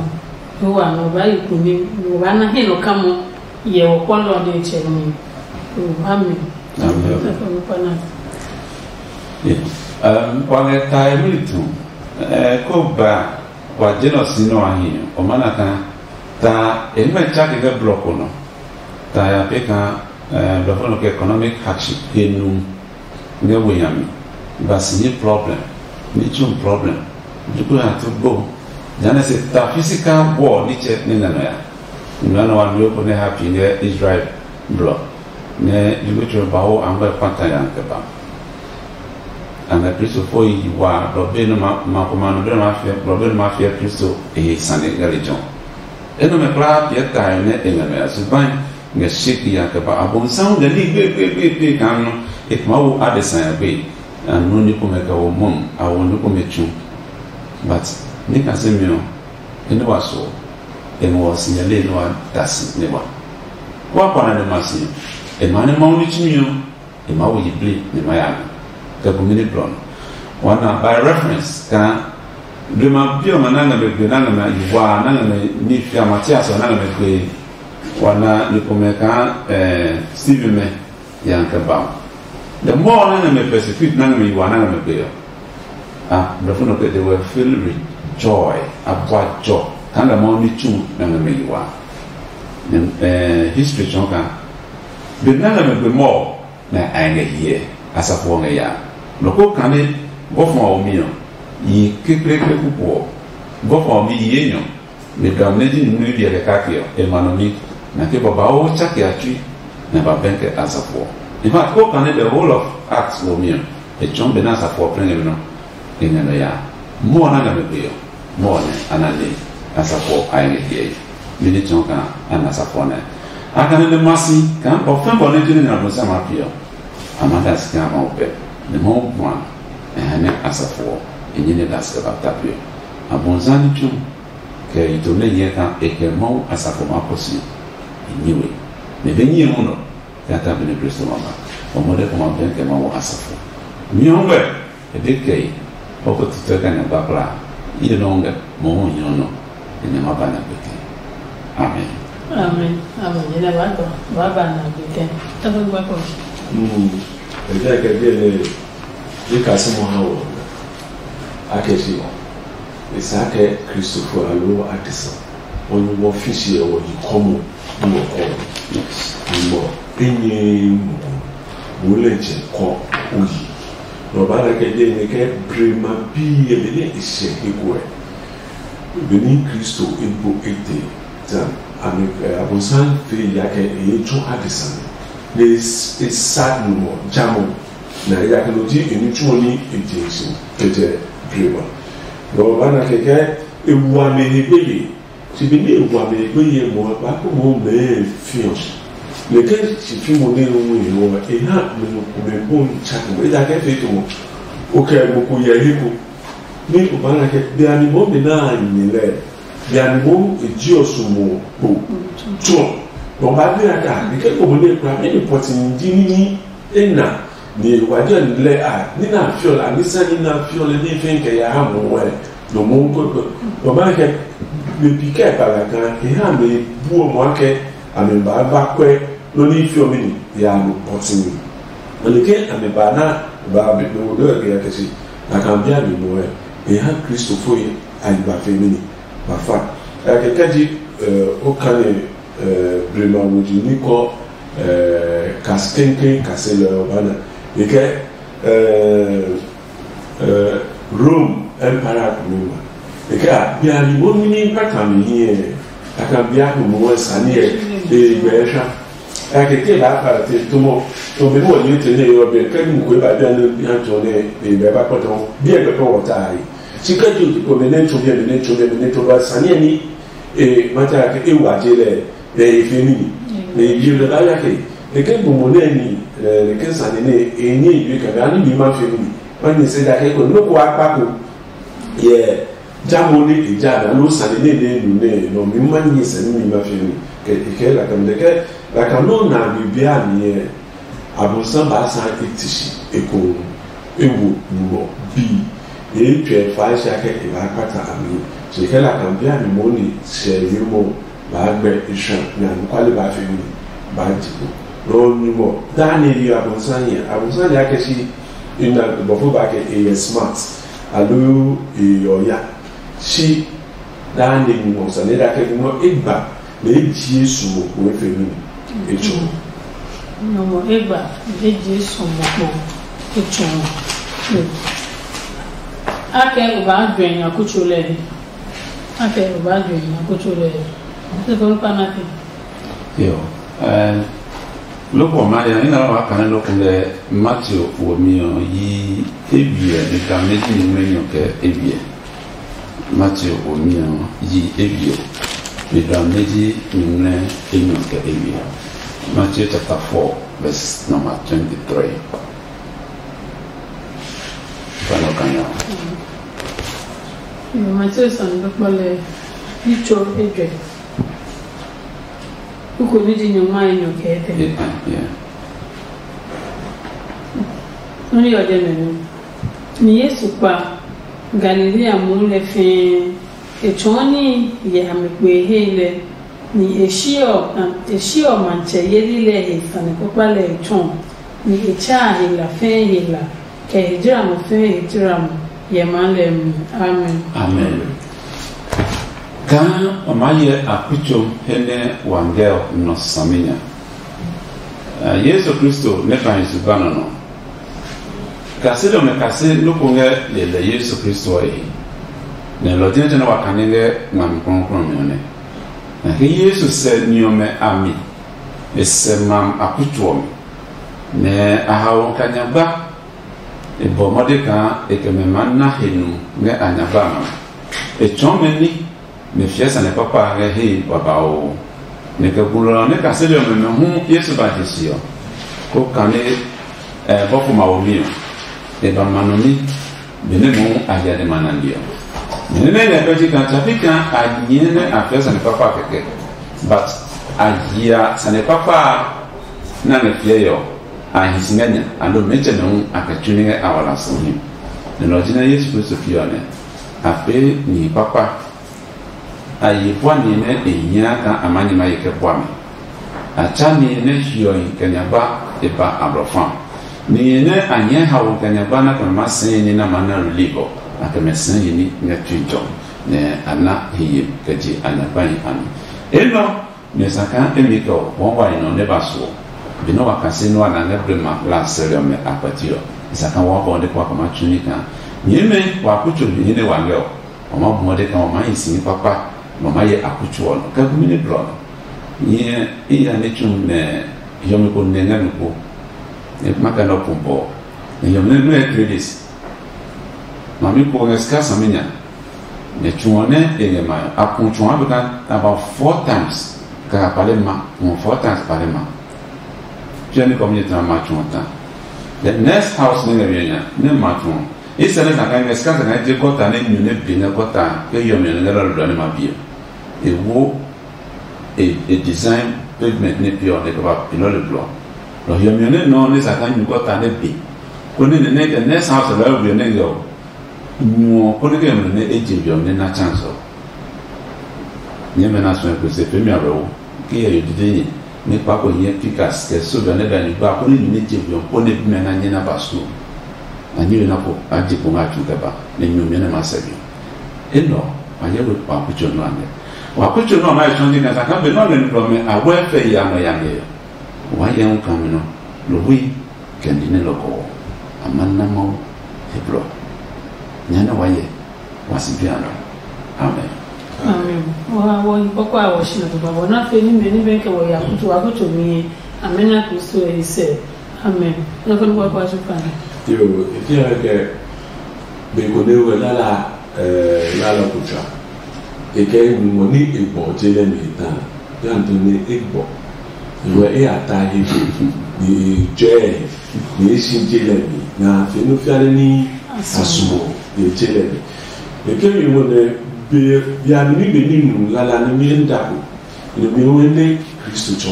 Wo wa no ba yi kunim. Wo ba na he no kamo. Ye wo ko lo de che mi. Wo ba mi. Amen. Ko na. Yes. Um, wa nge ta e mi tu. Eh, ko ba wa je no si no ahi. O mana ka ta e me cha ke block no. Ta ya pe ka eh, blɔfo nɔ ke economic hardship he nu ngɛ we nya mi. Ba si nye problem, ni tsun problem. Duku ya tu gbo. Jane se ta physical war ni tsɛ ne ngɛ nɔ ya. Nɔ na wa nyo ko ne happy ngɛ Israel blɔ. Ne duku tsɛ ba wo angɔ kpata ya ke ba. Angɛ Kristo fo yi wa blɔ be no ma ma ko ma no be no ma fia blɔ be no ma fia Kristo e sane ngɛ le jɔn. Enɔmɛ kulaa piɛ tae nɛ e ngɛ mɛ ya suban ngɛ sheki ya kɛ ba. Abonsam ngɛ ní gbeegbeegbe kaa nɔ e kuma wo adesa ya gbe. A nɔ ní komɛ kɛ wo mɔm a wo ní komɛ tsu. But ní ka se mi ɔ, e ní wa so e ngɔ si nyɛ le ní wa da si ní wa. Wa kpa na de ma si e ma ní Mawu ní tsumi ɔ. E maa wo yiblii nɛ e maa ya mi kɛ bumi ní blɔ nɔ. Wana by reference kaa blema bi ɔmɛ na ngɛ mɛ gbe na ngɛ mɛ yiwa na ngɛ mɛ ní fia Matias ɔ na ngɛ mɛ gbe. Wana ni komɛ kaa ɛɛ Stephen mɛ ya kɛ ba o. The more na ngɛ mɛ persecute na ngɛ mɛ yiwa na ngɛ mɛ gbe ɔ. Ah, blɔfo nɔ kɛ they were filled with Joy, a bua jɔ kaa ngɛ Mawu ní tsu nɛ ngɛ mɛ yi wa. History tsɔɔ kaa be nɛ ngɛ mɛ gbe mɔ nɛ a ngɛ hyɛ asafo ɔ ngɛ ya. Nɔ ko kane bɔfo a ɔ mi ɔ, yi kekleekle kuku ɔ, bɔfo a ɔ mi yi enyɔ. Me dam nɛ ji nunu biɛ kɛ kake ɔ, e ma nɔ mi, nɛ ke babauu tsake a tsui, nɛ ba bɛn kɛ asafo ɔ. In fact, ko kane the whole of Acts wo mi ɔ, e tsɔɔ be nɛ asafo ɔ plɛ ngɛ mi nɔ, e ngɛ nɔ ya. Mɔ ɔ na ngɛ me gbe ɔ, mɔ ɔ nɛ a na le asafo ɔ a ngɛ hiɛ yi. Mi ní tsɔɔ kaa a na asafo ɔ nɛ. A kane nɛ ma si kaa bɔ fɛn bɔ nɛ ji nɛ Abosiami a piɛ ɔ, a ma da si kaa Mawu pɛ, nɛ Mawu bua, nɛ ha nɛ asafo ɔ, e nyɛ nɛ da si kɛ ba ta piɛ ɔ. Abosiami tsu kɛ yitu nɛ hyɛ kaa e kɛ Mawu asafo maa kɔ si e nyi we. Nɛ be nyi e munɔ kɛ a ta be nɛ Kristo ma ba. Ɔ mɔdɛ kɔ ma bɛn kɛ Mawu asafo. Nyɔngmɛ e be kɛ yi, ɔ ko titɔ kɛ nyɛ gbakpla. Ye nɔ ngɛ mɔ hu nyɔ nɔ, e nyɛ ma ba na gbeke. Amen. Amen. Amen. Nyɛ nɛ ba dɔ ba ba na gbeke. Tɔgbe gbɛ kɔ. Mm. E jẹ́ kɛ bí ẹni ye kasi mo ha wɔ. Akɛ si e sa kɛ Kristofo alo adesa. Wɔn wɔ fisi ɛ wɔ yi kɔmɔ ni wɔ kɔ. Yes. Mɔ enye mɔ mo lɛ jɛ kɔ oyi. Nɔ ba na kɛ je ne kɛ brema bi ɛ be ne e sɛ eko ɛ. Be ni Kristo ebo ete ta ami ɛ Abosam fe ya kɛ e ye tso adesa ne. Ne e sa numɔ jamɔ. Na e ya kɛ no ji e ni tsuo ni e je si kɛ jɛ brema. Nɔ ba na kɛ kɛ e wa me he gbeye. Ti bi ni e wa mɛ gbeye mɔ ba ko mɔ mɛ fiɔ. Nɛ ke si fi mo ne hu he ɔ e ha mɛ no ko mɛ bo n tsa ko e da ke fe to mo. O kɛ mo ko yɛ he ko. Ni o ba na ke bia ni mo mi na ni lɛ. Bia ni mo e ji o su mo po. Tso. Mo ba bi aka ni ke ko mo ne kura mi ni pɔti ni ji ni ni e na. Ni wa jɛ lɛ a ni na fiɔ la ni sa ni na fiɔ lɛ ni fɛn kɛ ya ha mo wɛ. No mo ko ko. Mo ba ke me pi kɛ pa la kan e ha me bu o mo ke a me ba ba kwɛ no ni fiɔ mi ni ya no pɔtin. Mo ni ke a me ba na ba be no do ke ya ke si. Na kan bia mi mo wɛ. E ha Kristo fo ye a yi ba fe mi ni. Ba fa. Ya ke kaji o kane brema wuji ni kɔ kasi kɛnkɛn kasi lɛ ɔ ba na. E kɛ Rome Empire kumi ma. E kɛ a bia ni mo nini kpata mi hi ɛ. A kan bia ko mo wɛ sani ɛ. E gbɛ sha. A ke ke ba pa te to mo. To me mo ni te ne yo be kɛ ni ko ba bia ne ya to ne e be ba kpata mo. Bia be ko wɔ ta ai. Si kɛ ju ko me ne to bia me ne to bia me ne to ba sani ni. E mata ke e wa je lɛ. Nɛ e fe ními, nɛ e bi lɛ ba ya ke, nɛ ke gbɔmɔ nɛ ni nɛ ke sane nɛ e nyɛ yi kɛ ga ni mi ma fe ními. Ma ni se da ke ko no ko akpa ko yɛ jamɔ ni e ja na lo sane nɛ nɛ nu nɛ no mi ma ni se ni mi ma fe ni. Ke e ke la kam de ke la kam no na bi bia ni e. Abonsam ba sa e ti si e ko e wo nu bi. E tsɛ fa sha ke e ba kpata ami. Se ke la kam bia ni mo ni se yi mo. Baa gbɛ e sha nɛ anɔkuale baa fɛmi ni baa ji kpo. Nɔ ɔ nyumu ɔ daa nɛ e ye abonsam hyɛ. Abonsam hyɛ akɛ si ina bɔfo baa kɛ e yɛ smart aloo e yɛ ɔya. Si daa nɛ e nyumu ɔ sane da kɛ nyumu ɔ e gba nɛ e ji e su mo kpo e fɛmi ni e tsɔ. Nyɔmɔ egba eji sɔmɔ kpɔ etsɔɔ. Akɛ o ba jwɛ nya kutso lɛ. Akɛ o ba jwɛ nya kutso lɛ. Se ko pa na ke. Yo. Eh, loko ma ya ina wa kana loko lɛ Matthew wo mi o yi ebiɛ ni ka me ji ni me nyo ke ebiɛ. Mateo omiɔ yi ebiɛ, mi dɔ meji nyuŋmlɛ enyɔ kɛ ewiɛ. Mateo chapter four, verse number twenty-three. Kpano kanya. Mateo sɔn dɔkpɔ lɛ yitso ejwɛ. Kuko ni ji nyɔŋma enyɔ kɛ etɛ. Yeah, yeah. Nɔ ni ɔ jɛ mɛ nɔ. Ni Yesu kpa Galilea muu lɛ fɛɛ, e tsɔɔ níhi yɛ a mi kpee hei lɛ, ni e siɔ matsɛ yeli lɛ he sane kpakpa lɛ e tsɔɔ, ni e tsaa he la fɛɛ he la, kɛ he jramɔ fɛɛ he jramɔ, yɛ maa lɛ mi. Amen. Amen. Kaa o maa hyɛ akutso he nɛ wa ngɛ ɔ nɔ saminya. Yesu Kristo nɛ ba hi zugba nɔ nɔ. Kaseli ɔmɛ kase nɔ́ ko ngɛ lelɛ Yesu Kristo ɔ he, nɛ lɔ ɔ jinɛ nɛ wa kane ngɛ ngmami klɔuklɔu ɔ nɛ. Nɛ ke Yesu sɛ ni ɔmɛ a mi, e sɛ mam akutso ɔ mi, nɛ a haoɔ kɛ a nyagba. E bɔ mɔde kaa e kɛ mɛ maa na he nu ngɛ a nyagba a nɔ. E tsɔɔ mɛ ní, nɛ e fiɛ sane kpakpa a ngɛ hee babauu. Nɛ kɛ gulɔ ɔ nɛ kaseli ɔmɛ hu Yesu ba je se ɔ, kó kane bɔfo mawomi ɔ, e ba ma nɔ ní, benɛ mohu a hyɛ nɛ ma na li ɔ. Nɛ nɛ ngɛ pɛ ji kaa tsapi kaa a nyɛɛ nɛ a fiɛ sane kpakpa kɛkɛ, but a hyɛ sane kpakpa a nɛ a ngɛ fiɛe ɔ, a hi si ngɛ nya, aloo mɛtsɛmɛ hu a kɛ tsu ní ngɛ a wala si hi. Nɛ lɔ ɔ ji nɛ Yesu Kristo fiɔ nɛ a pee nihi kpakpa. A ye bua nihi nɛ e hia kaa a maa nyɛ ma ye kɛ bua mi. A tsa nihi nɛ hiɔhi kɛ nyagba e ba a blɔ fa. Nihi nɛ a nyɛɛ haoe kɛ nyagba nɛ a kɛ mɛ maa sɛɛ ní nɛ a maa na relief ɔ, a kɛ mɛ sɛɛ yi ní ngɛ tui jɔ, nɛ a na he yemi kɛ je a nyagbahi a mi. Enɛ ɔ, nyɛ sa kaa emi kɛ ɔ wɔɔ wa yi nɔ nɛ ba suɔ. Be nɛ wa kase nɛ wa na ngɛ blema la sɛlɛ ɔmɛ a kpɛti ɔ, e sa kaa wɔɔ bɔ nɛ kpa kɛ ma tsu ní kaa nyɛɛmɛ wa kutso nihi nɛ wa ngɛ ɔ, wa ma bu mɔde kaa wa maa hi si ní kpakpa, nɛ wa maa hyɛ akutso ɔ nɔ kɛ gumi ní blɔ nɔ. Nyɛ i ya ní tsu nɛ hiɔmi ko nɛ ngɛ mi kpo. Nɛ ma kɛ nɔ pumpɔ nɛ hiɔmi nɛ nɔɛ three days. Ma mi ko ngɛ sika saminya. Nɛ tsu ɔ nɛ e ngɛ ma ɔ, a ku tsu ɔ be ka about four times. Kɛ a kpale ma, ku four times kpale ma. Tsɛ ni kɔmi tã ma tsu ɔ tã. The next house nɛ ngɛ mi nya nɛ ma tsu ɔ. Israel na ka ngɛ sika sɛ ka je gɔta nɛ nyu nɛ bi ngɛ gɔta ke yɔ mi nɛ lɔ lɔ ne ma bi ɔ. E wo e e design pavement ne pi ɔ ne ka ba pi lɔ le blɔ. Lɔ yɔ mi nɛ nɔ ne sa ka nyu gɔta ne bi. Ko ne ne ne the next house lɔ yɔ bi ne yɔ. Nyuɔ kɔnɛ kɛ mɛ nɛ e je jɔ nɛ na chance ɔ. Nyɛ mɛ na suɛ ko se pemi awɛ wo ke yɛ yo dide nyɛ ne kpa ko nyɛ pikas kɛ soja ne da ni gba ko ne nyɛ je jɔ ko ne mɛ na nyɛ na ba school. Na nyɛ na ko a je ko nga chu kɛ ba ne nyɛ mɛ ne ma sɛ bi. E nɔ a yɛ we pa ku cho no ande. Wa ku cho no ma e chon ni ka sa ka be no ne no me a we fe ya no ya me. Wa yɛ un ka me no. Lo hui. Kɛ ni nɛ lɔ kɔ ɔ, a ma na Mawu he blɔ. Nya nɛ wa yɛ wa si bi a nɔ. Amen. Amen. Wa wɔ yi kɔkɔ a wɔ shi na baba wɔ na fe ni me ni be ke wɔ ya kutu wa kutu mi. Amen na Kristo e se. Amen. Na ko ni kɔkɔ a su fa na. Yo, e ti ya ke be ko ne we la la eh la la kutra. E kɛ e nyumu ni e gbɔ je lɛ mi ta. Ya nto ni e gbɔ. Iwe e a ta he ni e jɛ ni e si je lɛ mi na fe no fia ne ni asumo ye je lɛ mi. E ke mi mo ne be ya ni be ni nu la la ni mi en da ko. Ni mi wo ne Kristo cho.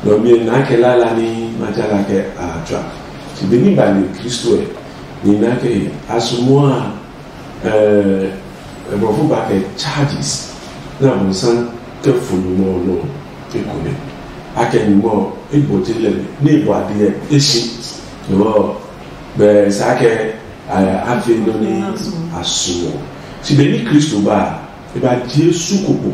No mi na ke la la ni ma ja la ke a twa. Si be ni ba ni Kristo e ni na ke asumo a Ɛɛ, Nkurɔfo ba kɛ charges nɛ Abonsam kɛ fo nyumu ɔ nɔ eko nɛ. A kɛ nyumu ɔ e bɔ je lɛ nɛ e bɔ ade ɛ e si. Nyumu ɔ bɛ sa kɛ a fe nɔ ni a su ɔ. Si be ni Kristo ba a, e ba je su koko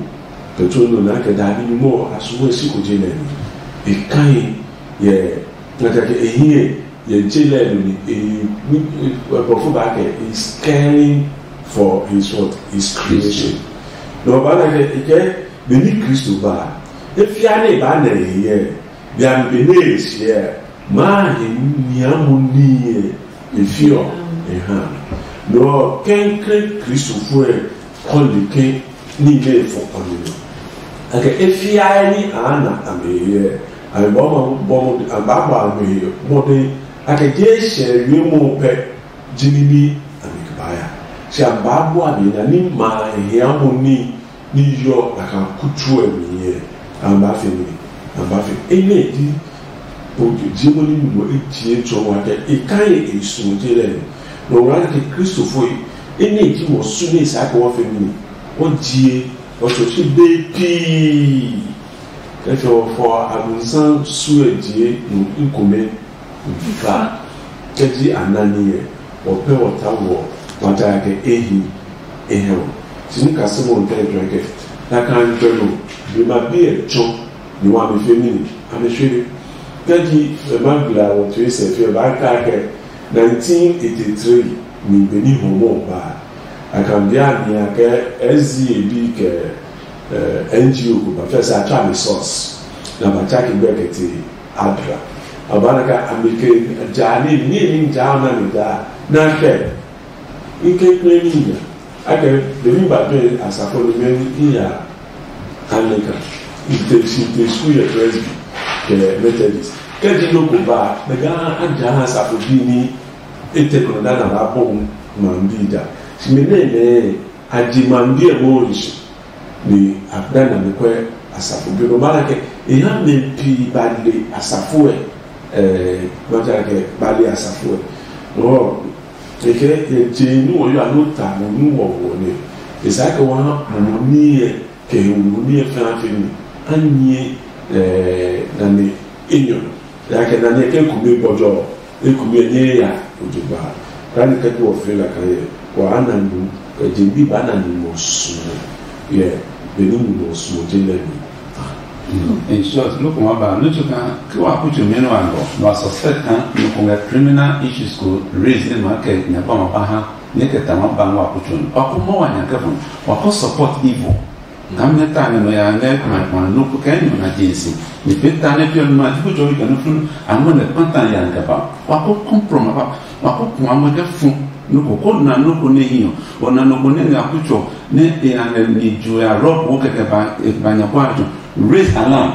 kɛ tso nɔ na kɛ da ni nyumu ɔ a su ɔ e si ko je lɛ ni. E kai yɛ na kɛ e hiɛ Yɛ je lɛ nɔ ni e bɔfo ba kɛ is caring for his what? His creation. Na ɔba na kɛ e kɛ be ni Kristo ba e fia ne e ba nɛ e yɛ bia be ne e siɛ maa he nia mo ni yɛ e fi ɔ e ha. Nɔ kɛnkɛn Kristofo ɛ kɔli ke ní nɛ e fɔ kpami nɔ. Kɛkɛ e fiae ní a na a mi hyɛ a mi bɔ ma bɔ mo a ba bɔ a mi hyɛ mɔde a kɛ je hyɛ wie mo pɛ jini ní a mi kɛ ba ya. Shi a ba bɔ a mi na ní ma a hia mo ní ní yɔ a ka kutu ɛ mi hyɛ a ba fi mi a ba fi e nɛ di o je mo ní mo e tie tsɔ wa kɛ e ka ye e su je lɛ no wa kɛ Kristofo e nɛ di mo su ní sa kɛ wa fi mi o jie Ɔtsɔtsi be pii kɛ fɛ ɔ fɔ abonsam suɛ die nu ikome fa kɛ ji anani yɛ ɔ pɛ ɔ ta wɔ mata kɛ ehi ehɛ ɔ. Ti ni ka se mo ntɛ jɔ kɛ Nakai gbɛ no, blema bi ɛ tsɔ ni wa mi fe mi ni a mi shwere. Kɛji e ma gbla wɔ tue sɛ fi ɛ ba ka kɛ nineteen eighty-three ni be ni hɔmɔ ba a kan bia ni a kɛ S D A bi kɛ eh, N G O ko ba fɛ sɛ a tsa mi sɔs na ba tsa ki gbɛ kɛ te adra. A ba na ka a mi ke ja ni ni ni ja na mi da na kɛ. N ke kple mi nya. A kɛ be mi ba pe asafo ni me ni ya Anglican. N te si te school yɛ Presby kɛ Methodist. Kɛ ji no ko ba me ga a ja asafo bi ni e te ko da na ba bɔ ma bi da. Si me ne ne a ji ma bi e mo ri si. Ni a da na me kwɛ asafo bi no ba na kɛ e ha me pi ba le asafo ɛ. Eh, ba ja kɛ ba le asafo ɛ. Ɔ, Kɛkɛ yɛ je nu ɔ yɔ alo ta mo nu wɔ wɔ nɛ e sa kɛ wa ha mo niɛ kɛ he wo niɛ fɛn afi mi a nyɛ nane enyɔ ya kɛ nane kɛ kume bɔjɔ e kume nyɛ ya o je ba. Rani kɛ tu ɔ fɛ la kan yɛ wa ana nu kɛ je bi ba na ni mo su yɛ be ni mo su je lɛ mi. In short, look, ma ba no chuka ke wa kuchu mi no ando no a suspect kan no ko ngɛ criminal issues ko raise ne ma kɛ nya ba ma ba ha ne kɛ ta ma ba wa kuchu no. Wa ko mo wa nya ke fun wa ko support evil. Kam ne ta ne no ya ngɛ ma ma no ko kɛ no na jinsi. Ni pe ta ne pio ma ji ko jo ke no fun a mo ne panta ya ngɛ ba. Wa ko compromise ba. Wa ko kuma mo ke fun no ko ko na no ko ne hiyo. Wa na no ko ne nga kuchu ne e ya ngɛ ni ju ya rob wo kɛkɛ ba e ba nya kwa jo. Raise alarm.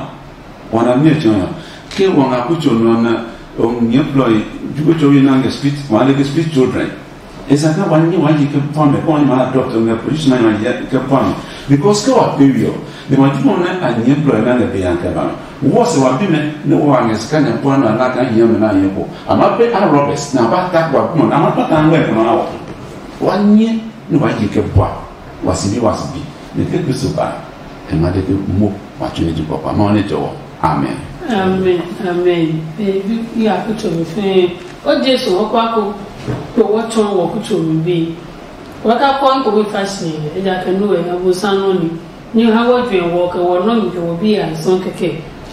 Wana mi etsɔ ya ke wa nga kutso nɔ na o nyɛ blɔ yi jugo tso yi na nge street wa le ke street children. Esa ka wa nyi wa yi ke pɔ me ko ma adopt nge position ma yi ke pɔ me because ke wa pe wi o de ma jugo na a nyɛ blɔ yi na nge be yan ke ba me wo se wa bi me ne wa nge ska nya pɔ na na ka hiɛ me na yɛ ko ama pe a robbers na ba ta wa kuma na ma pata ngwe ko na wa wa nyi ne wa yi ke bua wa si bi wa si bi ne ke Kristo ba e ma de ke mo wa tsu ne ji pɔpa ma ne jɔwɔ. Amen. Amen. Amen. Ebi ya kutsɔ mi fɛɛ o Jesu wɔ kwa ko kpo wɔ tsɔ wɔ kutsɔ mi be wɔ ka kɔ nko mi fa si eja ke nu wɛ na bo sa nɔ ni ni ha wɔ jue wɔ kɛ wɔ nɔ mi kɛ wɔ bi ya sɔn kɛkɛ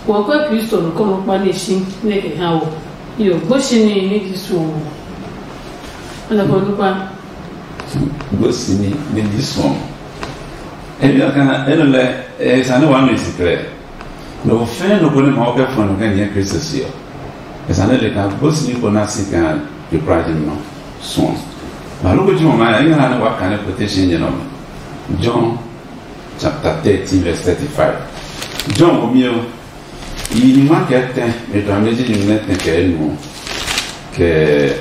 wɔ kɔ Kristo no kɔ no kpa ne shi ne kɛ ha wɔ yo gbo shi ni ni ji su wɔ. Ana ko no kpa. Gosimi ne ji suɔ. Ebi aka eno lɛ e sane wa mi sikrɛ. No fɛn no ko ne ma o kɛ fɔ no kɛ nyɛ Kristo si ɔ. E sane le ka gosimi ko na si ka je pra je no suɔ. Ma lo ko ji mo ma ya ina ne wa ka ne quotation je no. John chapter thirteen verse thirty-five. John wo mi o. Yi nyuma kɛ tɛ me dua me ji nyumu nɛ tɛ kɛ nu kɛ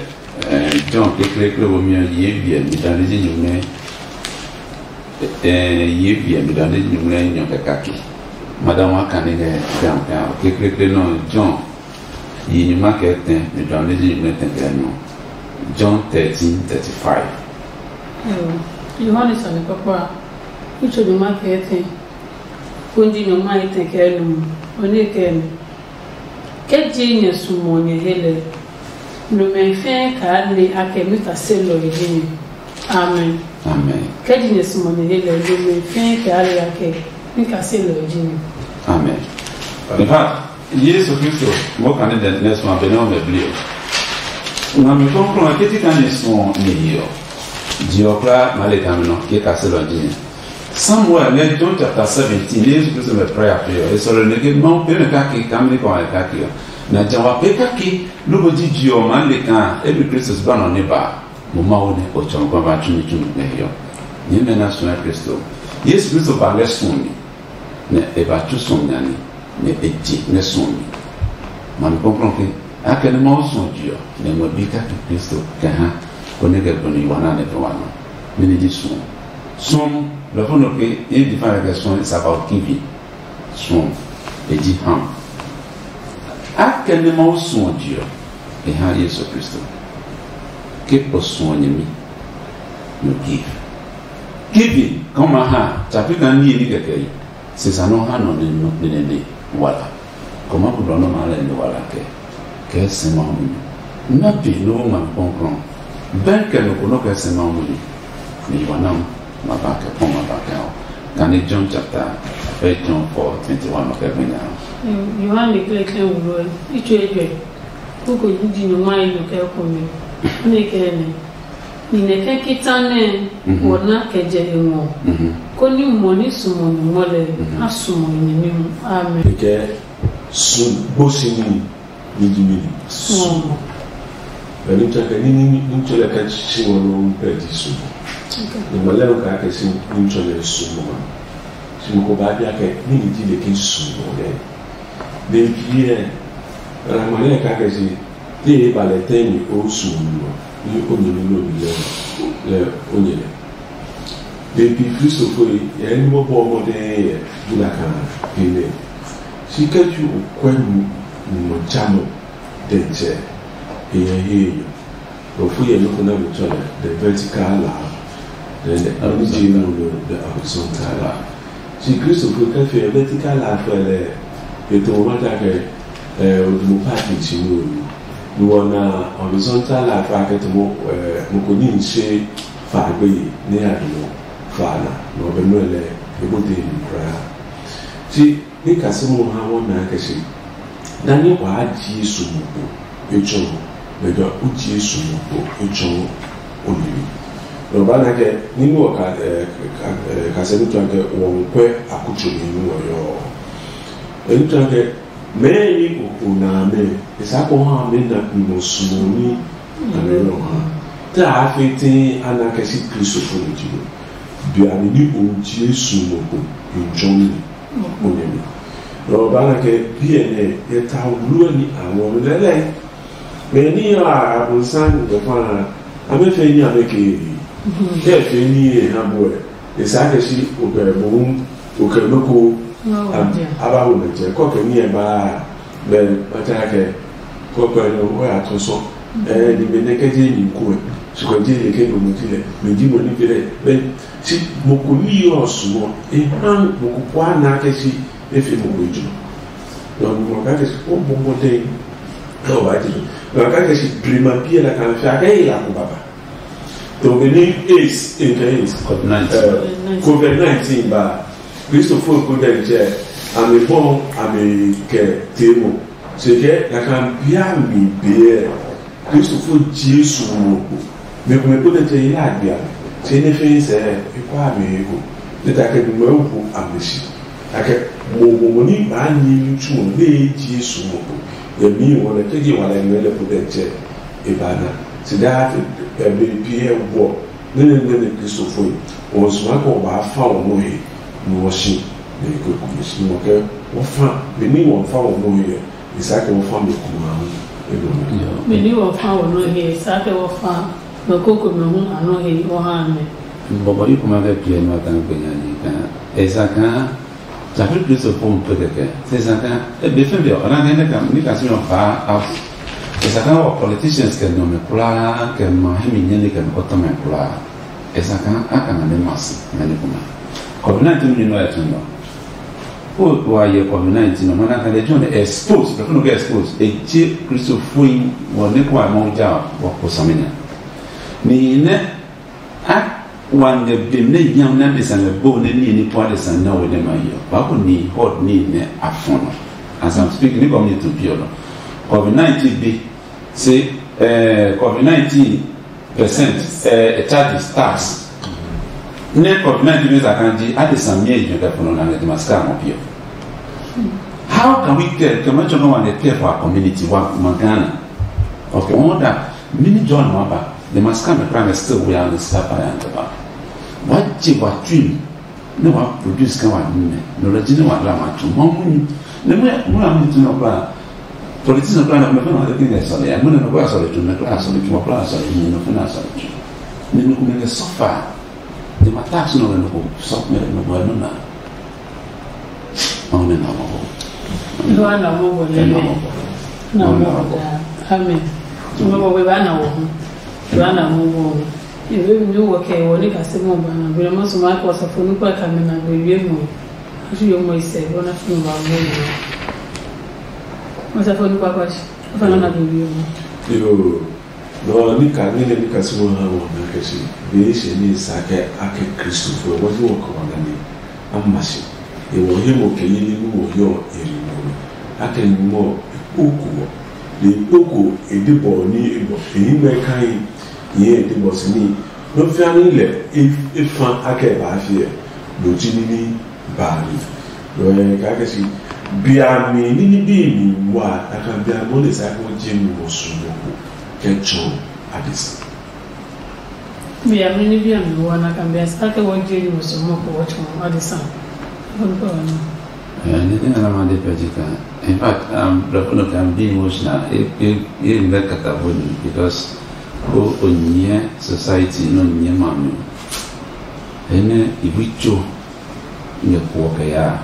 John kekleekle wo mi ɔ yi biɛ mi dua me ji nyumu nɛ yi biɛ mi dua me ji nyumu nɛ nyɔ kɛ kake. Madam wa kane ngɛ John kekleekle nɔ John yi nyuma kɛ tɛ me dua me ji nyumu nɛ tɛ kɛ nu. John thirteen thirty-five. Yohane sane kpakpa a, kutsɔ nyuma kɛ tɛ. Konji nyɔ ma etɛ kɛ nu ɔ ne kɛ mi. Ke ji nyɛ sumo nyɛ he lɛ, numɛ fɛɛ kaa ne a kɛ mi kaselɔe ji mi. Amen. Amen. Ke ji nyɛ sumo nyɛ he lɛ, numɛ fɛɛ kaa ne a kɛ mi kaselɔe ji mi. Amen. In fact, Yesu Kristo mo kane dɛ nɛ suɔ be nɛ o mɛ bli o. Ngami kɔnkɔn ke ti ka ni suɔ ni yi ɔ. Ji ɔ kura ma le kami nɔ ke kaselɔ ji ni. Samuel ngɛ John chapter seventeen ne Yesu Kristo mɛ prayer pe ɔ e sɔlɔ ne ke Mawu pe mɛ kake kamli kɔ ngɛ kake ɔ na ja wa pe kake loko ji ji ɔ maa le kaa emi Kristo ba nɔ ne ba mo Mawu ne o tsɔ kɔ ba tsumi tsumi ngɛ hiɔ. Nyɛ mɛ na suɔ Kristo. Yesu Kristo ba ngɛ suɔ mi nɛ e ba tsu suɔ mi nane nɛ e je ngɛ suɔ mi. Mami kɔklɔ ke akɛni Mawu suɔ je ɔ nɛ ngmɛ bi kake Kristo kɛ ha konɛ kɛ gbɔni yi wa na nɛ fɛ wa nɔ. Mɛni ji suɔ? Suɔmɔ lɔfo nɔ ke e define kɛ suɔ is about giving. Suɔ e ji ham. Akɛni Mawu suɔ je ɔ e ha Yesu Kristo. Ke o suɔ nyɛmi no give. Giving kɔma ha tsapi ka niye ni kɛkɛ yi. Sisa nɔ ha nɔ ne nɔ ne ne wala. Kɔma ko dɔ nɔ ma lɛ ne wala kɛ kɛ sɛ ma hu ni. Na pe no wo ma kɔnkrɔn. Bɛn kɛ no ko no kɛ sɛ ma hu ni. Ni wa nam ma ba kɛ pɔn ma ba kɛ o. Kane John chapter, fɛ John four twenty one ɔ kɛ gbe nya. Yohane kɛlɛkɛlɛ wuro ɛ, itso ejwɛ, koko ji nyɔngma yi nɔ kɛ kome. Ne kɛ ne. Ni nɛ kɛ kita nɛ wɔ na kɛ jɛ e ngɔ. Koni mɔ ni sumɔ nyɔngma lɛ, a sumɔ e nyɛmi hu. Amen. Kɛ su gbosi ni ni ji mi ni. Sumo. Bɛ ni tsɔ kɛ ni ni ni tsɔ lɛ kɛ tsi wɔ no pɛ di sumo. Ni ma lɛ ka kɛ si ni tsɔ lɛ sumo. Si mo ko ba bia kɛ ni ni ji le ke sumo lɛ. Be ki ɛ, ra ma lɛ ka kɛ si te e ba lɛ tɛ ni o sumo ni wa. Ni o ni ni lo ni lɛ lɛ o ni lɛ. Be pi Kristofo yi yɛ ni mo bɔ mɔdɛɛ yɛ bula ka ni lɛ. Si kɛ ju o kwɛ nu mo jamɔ. Dɛntsɛ, e yɛ he yo. Nɔ fu yɛ nɔ́ ko nɛ mi tsɔ lɛ, the vertical law, then the origin of the horizontal law. Si Kristo fu kɛ fi vertical law fɛ lɛ, e to ma ta kɛ, eh, odumo party chi wo ni. Ni wɔ na horizontal law fa kɛ to mo, eh, mo ko ni nse fa gbe yi ne ya do fa na, no be no lɛ, e bo de ni kra. Si Ni kasimo ha wɔ naa kɛ se, nani waa ji Yesu mo kpo etsɔ, bɛ jɔ u ji Yesu mo kpo etsɔ o nyɛmi. Nɔ ba na kɛ, ni nɔ ka, ɛ, ka, ɛ, kasɛmi tɔ kɛ, wɔ nkwɛ akutso mi ni wɔ yɔ. Ɛni tɔ kɛ, mɛ ni o o na mɛ, esa ko ha mɛ na mi mo sumo ni a mɛ yɔ ha. Ta a fe tin ana kɛ si Kristo fo ni ji mo. Bia mi ni o ji Yesu mo kpo in jɔ mi. O nyɛmi. Nɔ ba na kɛ biɛ nɛ yɛ ta wulu ni a ngɔ mi lɛlɛ. Mɛ ni ya abunsan ni bɛ fa na, a mɛ fɛ ni a mɛ ke yi. Kɛ fɛ ni ye ha bo ɛ. E sa kɛ si o kɛ bo o kɛ no ko. A ba wo mɛ jɛ kɔ kɛ ni ɛ ba bɛ ba ta kɛ kɔ kɛ no o ya tɔ sɔ. Ɛ ni mɛ nɛ kɛ je ni ko ɛ. Su kɛ je le ke no mo ti lɛ. Mɛ ji mo ni pe lɛ. Bɛ Si mo ko ní yɔ ɔ suɔ, e ha mo ko kua na kɛ si e fi mo ko ju. Nɔ mo ka kɛ si o bɔ mo de. Nɔ ba ti. Nɔ ka kɛ si prima pie la kan fi a kɛ yi la ko baba. To be ni AIDS in kɛ AIDS. Covid nineteen. Eh, Covid nineteen ba. Kristo fo ko de je. Ami bɔ ami kɛ temo. Se kɛ la kan bia mi be. Kristofo Jesu ngɔ kpo. Mɛ ko mɛ ko nɛ tɛ yi la gbia. Se ne fe sɛ e kwa mi he ko. Ne ta kɛ bi mɛ wo a mi si. Ta kɛ mo mo mo ni ba ni ni tu mo ne Jesu ngɔ kpo. Ye mi wo ne ke ji wa le mɛ le ko de tɛ e ba na. Si da te e be bi e wo. Ne ne ne ne Kristofo yi. Wo suma ko ba fa wo mo he. Ni wo si. Ne ko ko si mo ke wo fa. Be ni wo fa wo mo he. Isake wɔ fa mi kuma hu edo mi. Mɛ ni wɔ fa wɔ nɔ he, Isake wɔ fa nɔ koko mɛ hu a nɔ he wɔ ha mɛ. Bɔbɔ yi kuma kɛ piɛ nɔ ta kpe nya ni ka. Esa ka. Tsafi Kristo fo mu pe kɛkɛ. Se sa ka. E be fɛn bi ɔ na kɛ ne ka ni ka si yɔ fa a. Esa ka wɔ politicians kɛ nɔ mɛ kula kɛ ma he mi nyɛ ni kɛ nɔ kɔtɔ mɛ kula. Esa ka a ka na ne ma si na ni kuma. Covid nineteen ni nɔ ya tun nɔ. O wa yɛ covid nineteen ɔ mana kan de John expose, bɛ funu kɛ expose e je Kristo foi wɔ ne kɔ a mɔ ja wɔ ko samina. Ni ne a wan de bim ne yam na de san bo ne ni ni pɔ de san na wo ne ma yɔ. Ba ko ni hot ni ne a fono. As I'm speaking, ni community to pure no. Covid nineteen bi se eh covid nineteen percent eh, charges, tax. Ne kɔbi na jimi za kan ji ade sami e jwe kɛ pono na ne de maska mo pio. How can we care? Kɛ ma chɔnɔ wa ne care for our community wa ma Ghana. Okay, on that mini John ma ba de maska me kra me still we are the sapa ya de ba. Wa je wa tui ne wa produce ka wa nne no la jini wa la ma tu ma mu ni ne mu mu la mu tu no ba. Politician kura na kuma fɛn na ɔde kɛ sɔle ya muna na kura sɔle tu na kura sɔle tu kura sɔle tu na fɛn na sɔle tu. Ne no kuma ne sɔfa. De ma tax no no ko sɔ me no ko no na. Ɔne na mo. Lua na mo bo ne ne. Na mo bo da. Amen. Mo bo we ba na wo. Lua na mo bo. Ebe mi wo kɛ wo ne ka se mo ba na. Bi mo so ma ko sa fo nu kwa ka me na gbe wie mo. Asu yo mo ise bo na fo ba mo. Mo sa fo nu kwa kwa shi. Fa na na gbe wie mo. Yo. No ni ka ni ne ni ka sumo ha wo na ke shi. Be shi ni sa ke ake Kristo fo wo ni wo ko na ni. ama si. E wɔ he mo kɛ yi ni mo yɔ e ri mo. Akɛ ni mo e kpoko wɔ. Le kpoko e de bɔ ni e bɔ e yi mɛ kai ye e de bɔ si ni. No fia ni lɛ e fa akɛ ba fi ɛ. Lo ji ni ni ba ni. Lo ɛ ka kɛ si bia mi ni ni bi mi wa aka bia mo le sa ko je mi mo su mo ko kɛ tsɔ adisa. Bia mi ni bia mi wa na kan bia sa ke wo je ni mo su mo ko wo tsɔ adisa. Ko ko no. Eh, ni tena na ma de pɛ ji kan. In fact, um, blɔfo no kan be emotional. E e e mɛ kata boni because o o nyɛ society no nyɛ ma mi. Ene ibi tso nyɛ kuɔ kɛ ya.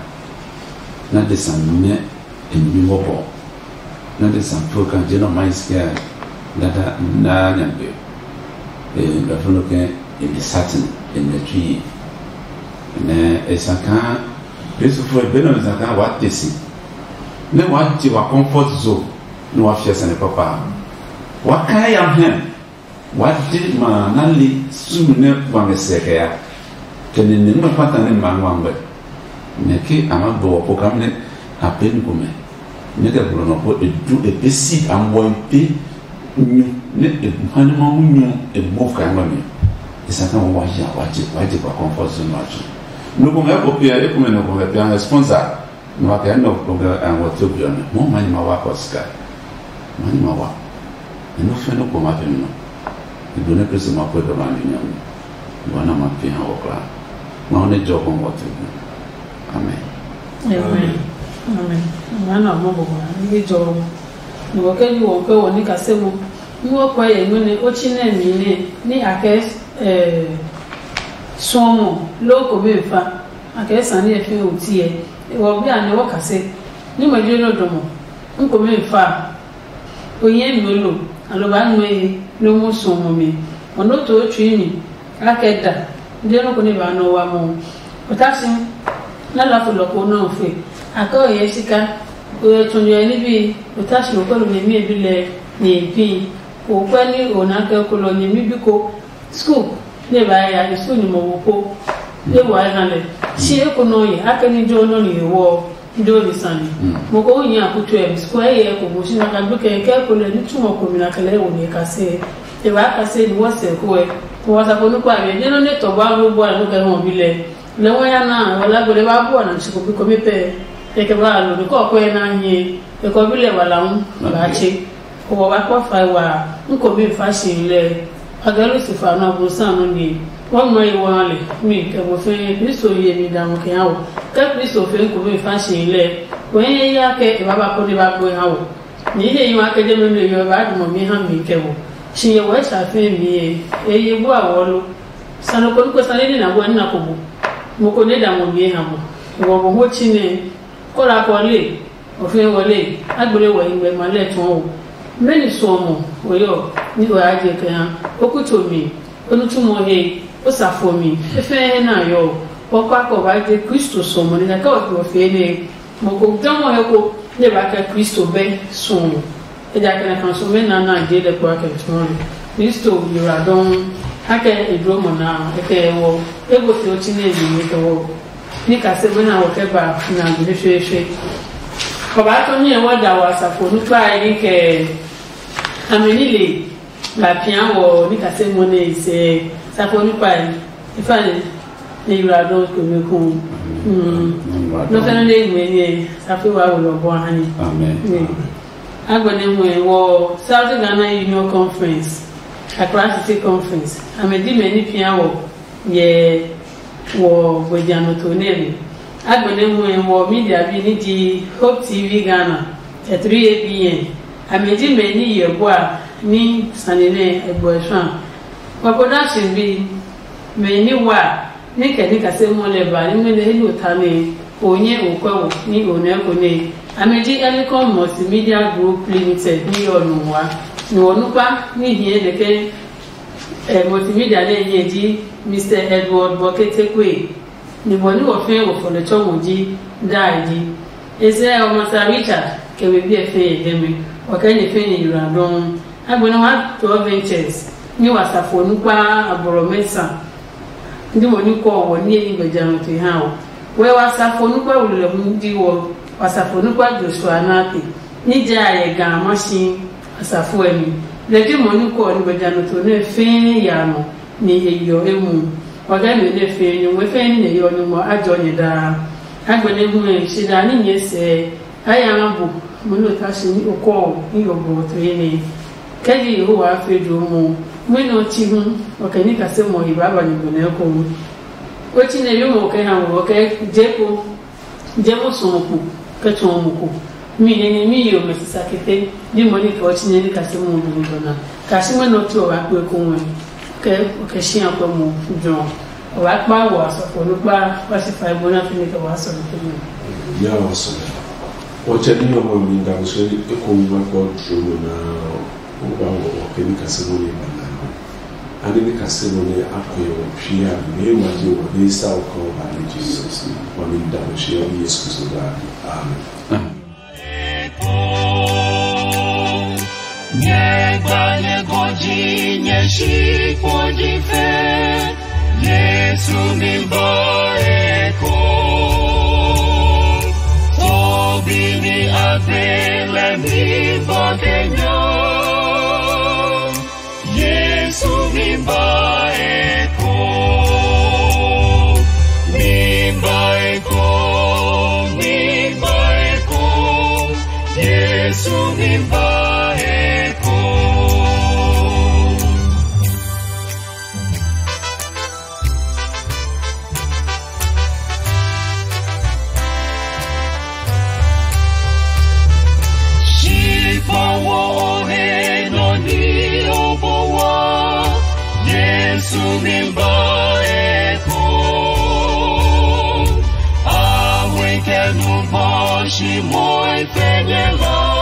Na de san nyɛ e nyɛ wɔ bɔ. Na de san program je no mai skia dada na nyangbe. E blɔfo no kan e de satin e nyɛ tui. Ne e sa kan Yesu fo e bena mi sa kan wa tesi. Ne wa je wa comfort zone ne wa fia sane papa. Wa kan ya hem. Wa de ma na le su ne wa me se kɛ ya. Kɛ ne ne ma pata ne ma wa ngbe. Ne ke a ma bo ko kam ne a pe ni ko me. Ne kɛ gblɔ nɔ ko e du e pe si a mo e pe nyu ne e ma ne ma mu nyu e mo ka ngba mi. E sa kan wa ya wa je wa je wa comfort zone wa chu. No ko me ko pia e ko me no ko me pia sponsor. No wa kɛ no ko ga an wa to bi on. Mo ma ni ma wa ko ska. Ma ni ma wa. E no fe no ko ma pe no. E do ne Kristo ma ko do ma ni nyam. Wa na ma pe ha wa kra. Ma ne jo ko wa to bi. Amen. Amen. Amen. Mana mo bo ma ni jo. Ni wo ke ni wo ke wo ni ka se mo. Ni wo kwa ye no ne o chi ne mi ne ni a ke eh suomo lo ko be fa. A ke sane e fi o tie. E wo bi a ne wo ka se. Ni mo je no do mo. N ko me fa. O nyɛ mi lo, alɔ ba nue he, lo mu suɔmɔ mi. O nɔ to tsui mi, a kɛ da, de nɔ ko ne ba nɔ wa mɔ. O ta si, na la fo lɔ ko nɔ fe. A kɛ o yɛ sika, o yɛ tun yɛ ni bi, o ta si o kɔ lo nyɛ mi bi lɛ, nyɛ bi. O kɔ ni o na kɛ ko lɔ nyɛ mi bi ko. School ne ba ya e school ni mo wo po. Ne wa e na le. Si e ko no ye, a ke ni jo no ni wo. Ndo ni sani. Mo ko nya ku tu em, square ye ko mo shi na ka gbe ke ke ko le ni tu mo ko mi na kele wo ni ka se. E ba ka se ni wo se ko e. Ko wa sa ko nu kwa me, ni no ne to ba ro bua no ke ho bi le. Le wa ya na, wala gbe le ba bua na chi ko bi ko mi pe. E ke ba lo ni ko ko e na nyi. E ko bi le wala un ba chi. Ko wa ba ko fa wa, n ko bi fa shi le. A ga Lusifa nɔ Abonsam nɔ ni. Wa ngma yi wa le, mi kɛ mo fɛɛ Kristo ye mi da mo kɛ ha wo. Kɛ Kristo fɛɛ ko mi fa si lɛ, ko ye ya kɛ e ba ba ko ne ba gbe ha wo. Ni he yi wa kɛ je me me yo ba du mo mi ha mi kɛ wo. Si ye wɛ sa fɛɛ mi ye, e ye bu a wo lo. Sano ko ko sane ni na bo ni na ko bu. Mo ko ne da mo mi ha mo. Wo bo ho chi ne. Ko la ko le. Ofe wɔ le, a gbele wɔ ingbe ma lɛ tɔɔ o. Mɛni suɔmɔ o yɔ ni o ya je kɛ ha, o kuto mi, o nitsumɔ he, o safo mi, e fɛɛ he na yɔ o. Kpɔkpa kɔ ba je Kristo suɔmɔ ni kɛ o fee ne mo ko jɔmɔ he ko ne ba kɛ Kristo bɛ suɔmɔ. Ejakaa na kan suɔmɔ na na je lɛ kpa kɛ tɔɔ. Kristo yura dɔn, a kɛ e dro mo na, e kɛ wɔ, e go fi o ti ne e mi kɛ wɔ. Ni kase we na wɔ kɛ ba na gbe fefeefe. Kɔba tɔ nyɛ wɔ da wɔ asafo nukpa ni kɛ amɛ ni le ba pia wɔ ni kase mo ne se asafo nukpa yi. Ifa ne ne yura dɔ ko me ko. Mm. No fɛn ne ngwe ne asafo wa wo lɔ bɔ hani. Amen. Agbɛnɛ ngwe wɔ South Ghana Union Conference, Accra City Conference. Amɛ di mɛ ni pia wɔ yɛ wɔ gbɛjanɔtoo nɛ mi. Agbɛnɛ hu ɛ wɔ media bi ni ji Hope T V Ghana kɛ three A B N. Amɛ ji mɛ ni yɛ bua ni sane nɛ e gbɔ e sua. Wɔ production bi mɛ ni wa ni kɛ ni kase mɔ lɛ ba ni mɛ nɛ he lo ta nɛ o nyɛ o kwɛ wo ni o nɛ ko nɛ. Amɛ ji Elicon Multimedia Group Limited ni yɔ nu wa. Ni wɔ nukpa ni hiɛ nɛ ke Ɛ, multimedia nɛ nyɛ ji Mister Edward Bɔkete Kwe, ni bɔ ni wɔ fɛɛ wɔ fɔ lɛ tsɔ mo ji Dai ji. E sɛ ɔ, Masa Richard kɛ we biɛ fɛɛ yɛ dɛmɛ, wɔ kɛ nyɛ fɛɛ nyɛ yura dɔɔ. Agbɛnɛ wa tɔɔ ventures ni wa sa fo nukpa abɔlɔ mɛsa. Ndi mo ni kɔ wɔ ni ni gbɛja no te ha o. Wɛ wasafo nukpa wulɔ hu ji wɔ, wasafo nukpa Joshua Nate, ní jɛ a yɛ ga a ma si asafo ɛ mi. Lɛ ji mɔ ní kɔ ní gbɛjanɔtɔ nɛ fɛɛ ya nɔ, ni e yɔ e mu. Wa ga nɔ nɛ fɛɛ nyɔngmɔ fɛɛ ní nɛ yɔ nyɔngmɔ a jɔ nyɛ daa. A gbɛnɛ hu ɛ shi daa ní nyɛ sɛɛ. A ya ngɛ bu, mo nɔ ta si ní okɔ ɔ ní yɔ bɔ to ye nɛ. Kɛ ji Yehowa a fe jo mo, mo nɔ chi hu, o kɛ ní kase mo yi ba ba ni bo nɛ ko. O chi nɛ yo mo kɛ ha mo, o kɛ je ko, je mo so mo ko, kɛ tso mo ko. Mi nɛ ni mi yo mɛ sisa kete, ni mo ni kɛ o chi nɛ ni kase mo bo ni bo na. Ka si mo nɔ tso wa kpe ko mo. Kɛ, kɛ shi a kpɛ mo jɔ. Wa kpa wa sɔ ko no kpa wa si fa bo na fini kɛ wa sɔ ko mo. Ya wa sɔ. O che ni o mo mi da mo se e ko mi ma ko tro mo na o ba wo o ke ni kase mo ni ba na. Ani ni kase mo ni a ko yo pia me wa ji wa ni sa o ko ba ni Jesus. Wa mi da mo shi o Yesu Kristo ba ni. Amen. Nyɛ gba nyɛ gɔji nyɛ shi kpo ji fe. Yesu mi ba eko. Obi ni agbe lɛ mi ba kenya. Yesu mi ba eko, mi ba eko, mi ba eko, Yesu mi ba eko. Shi kpa wo o he nɔ ni o bo wa, Yesu mi ba eko. A we kɛ nu bɔ shi moi fɛ nyɛ la.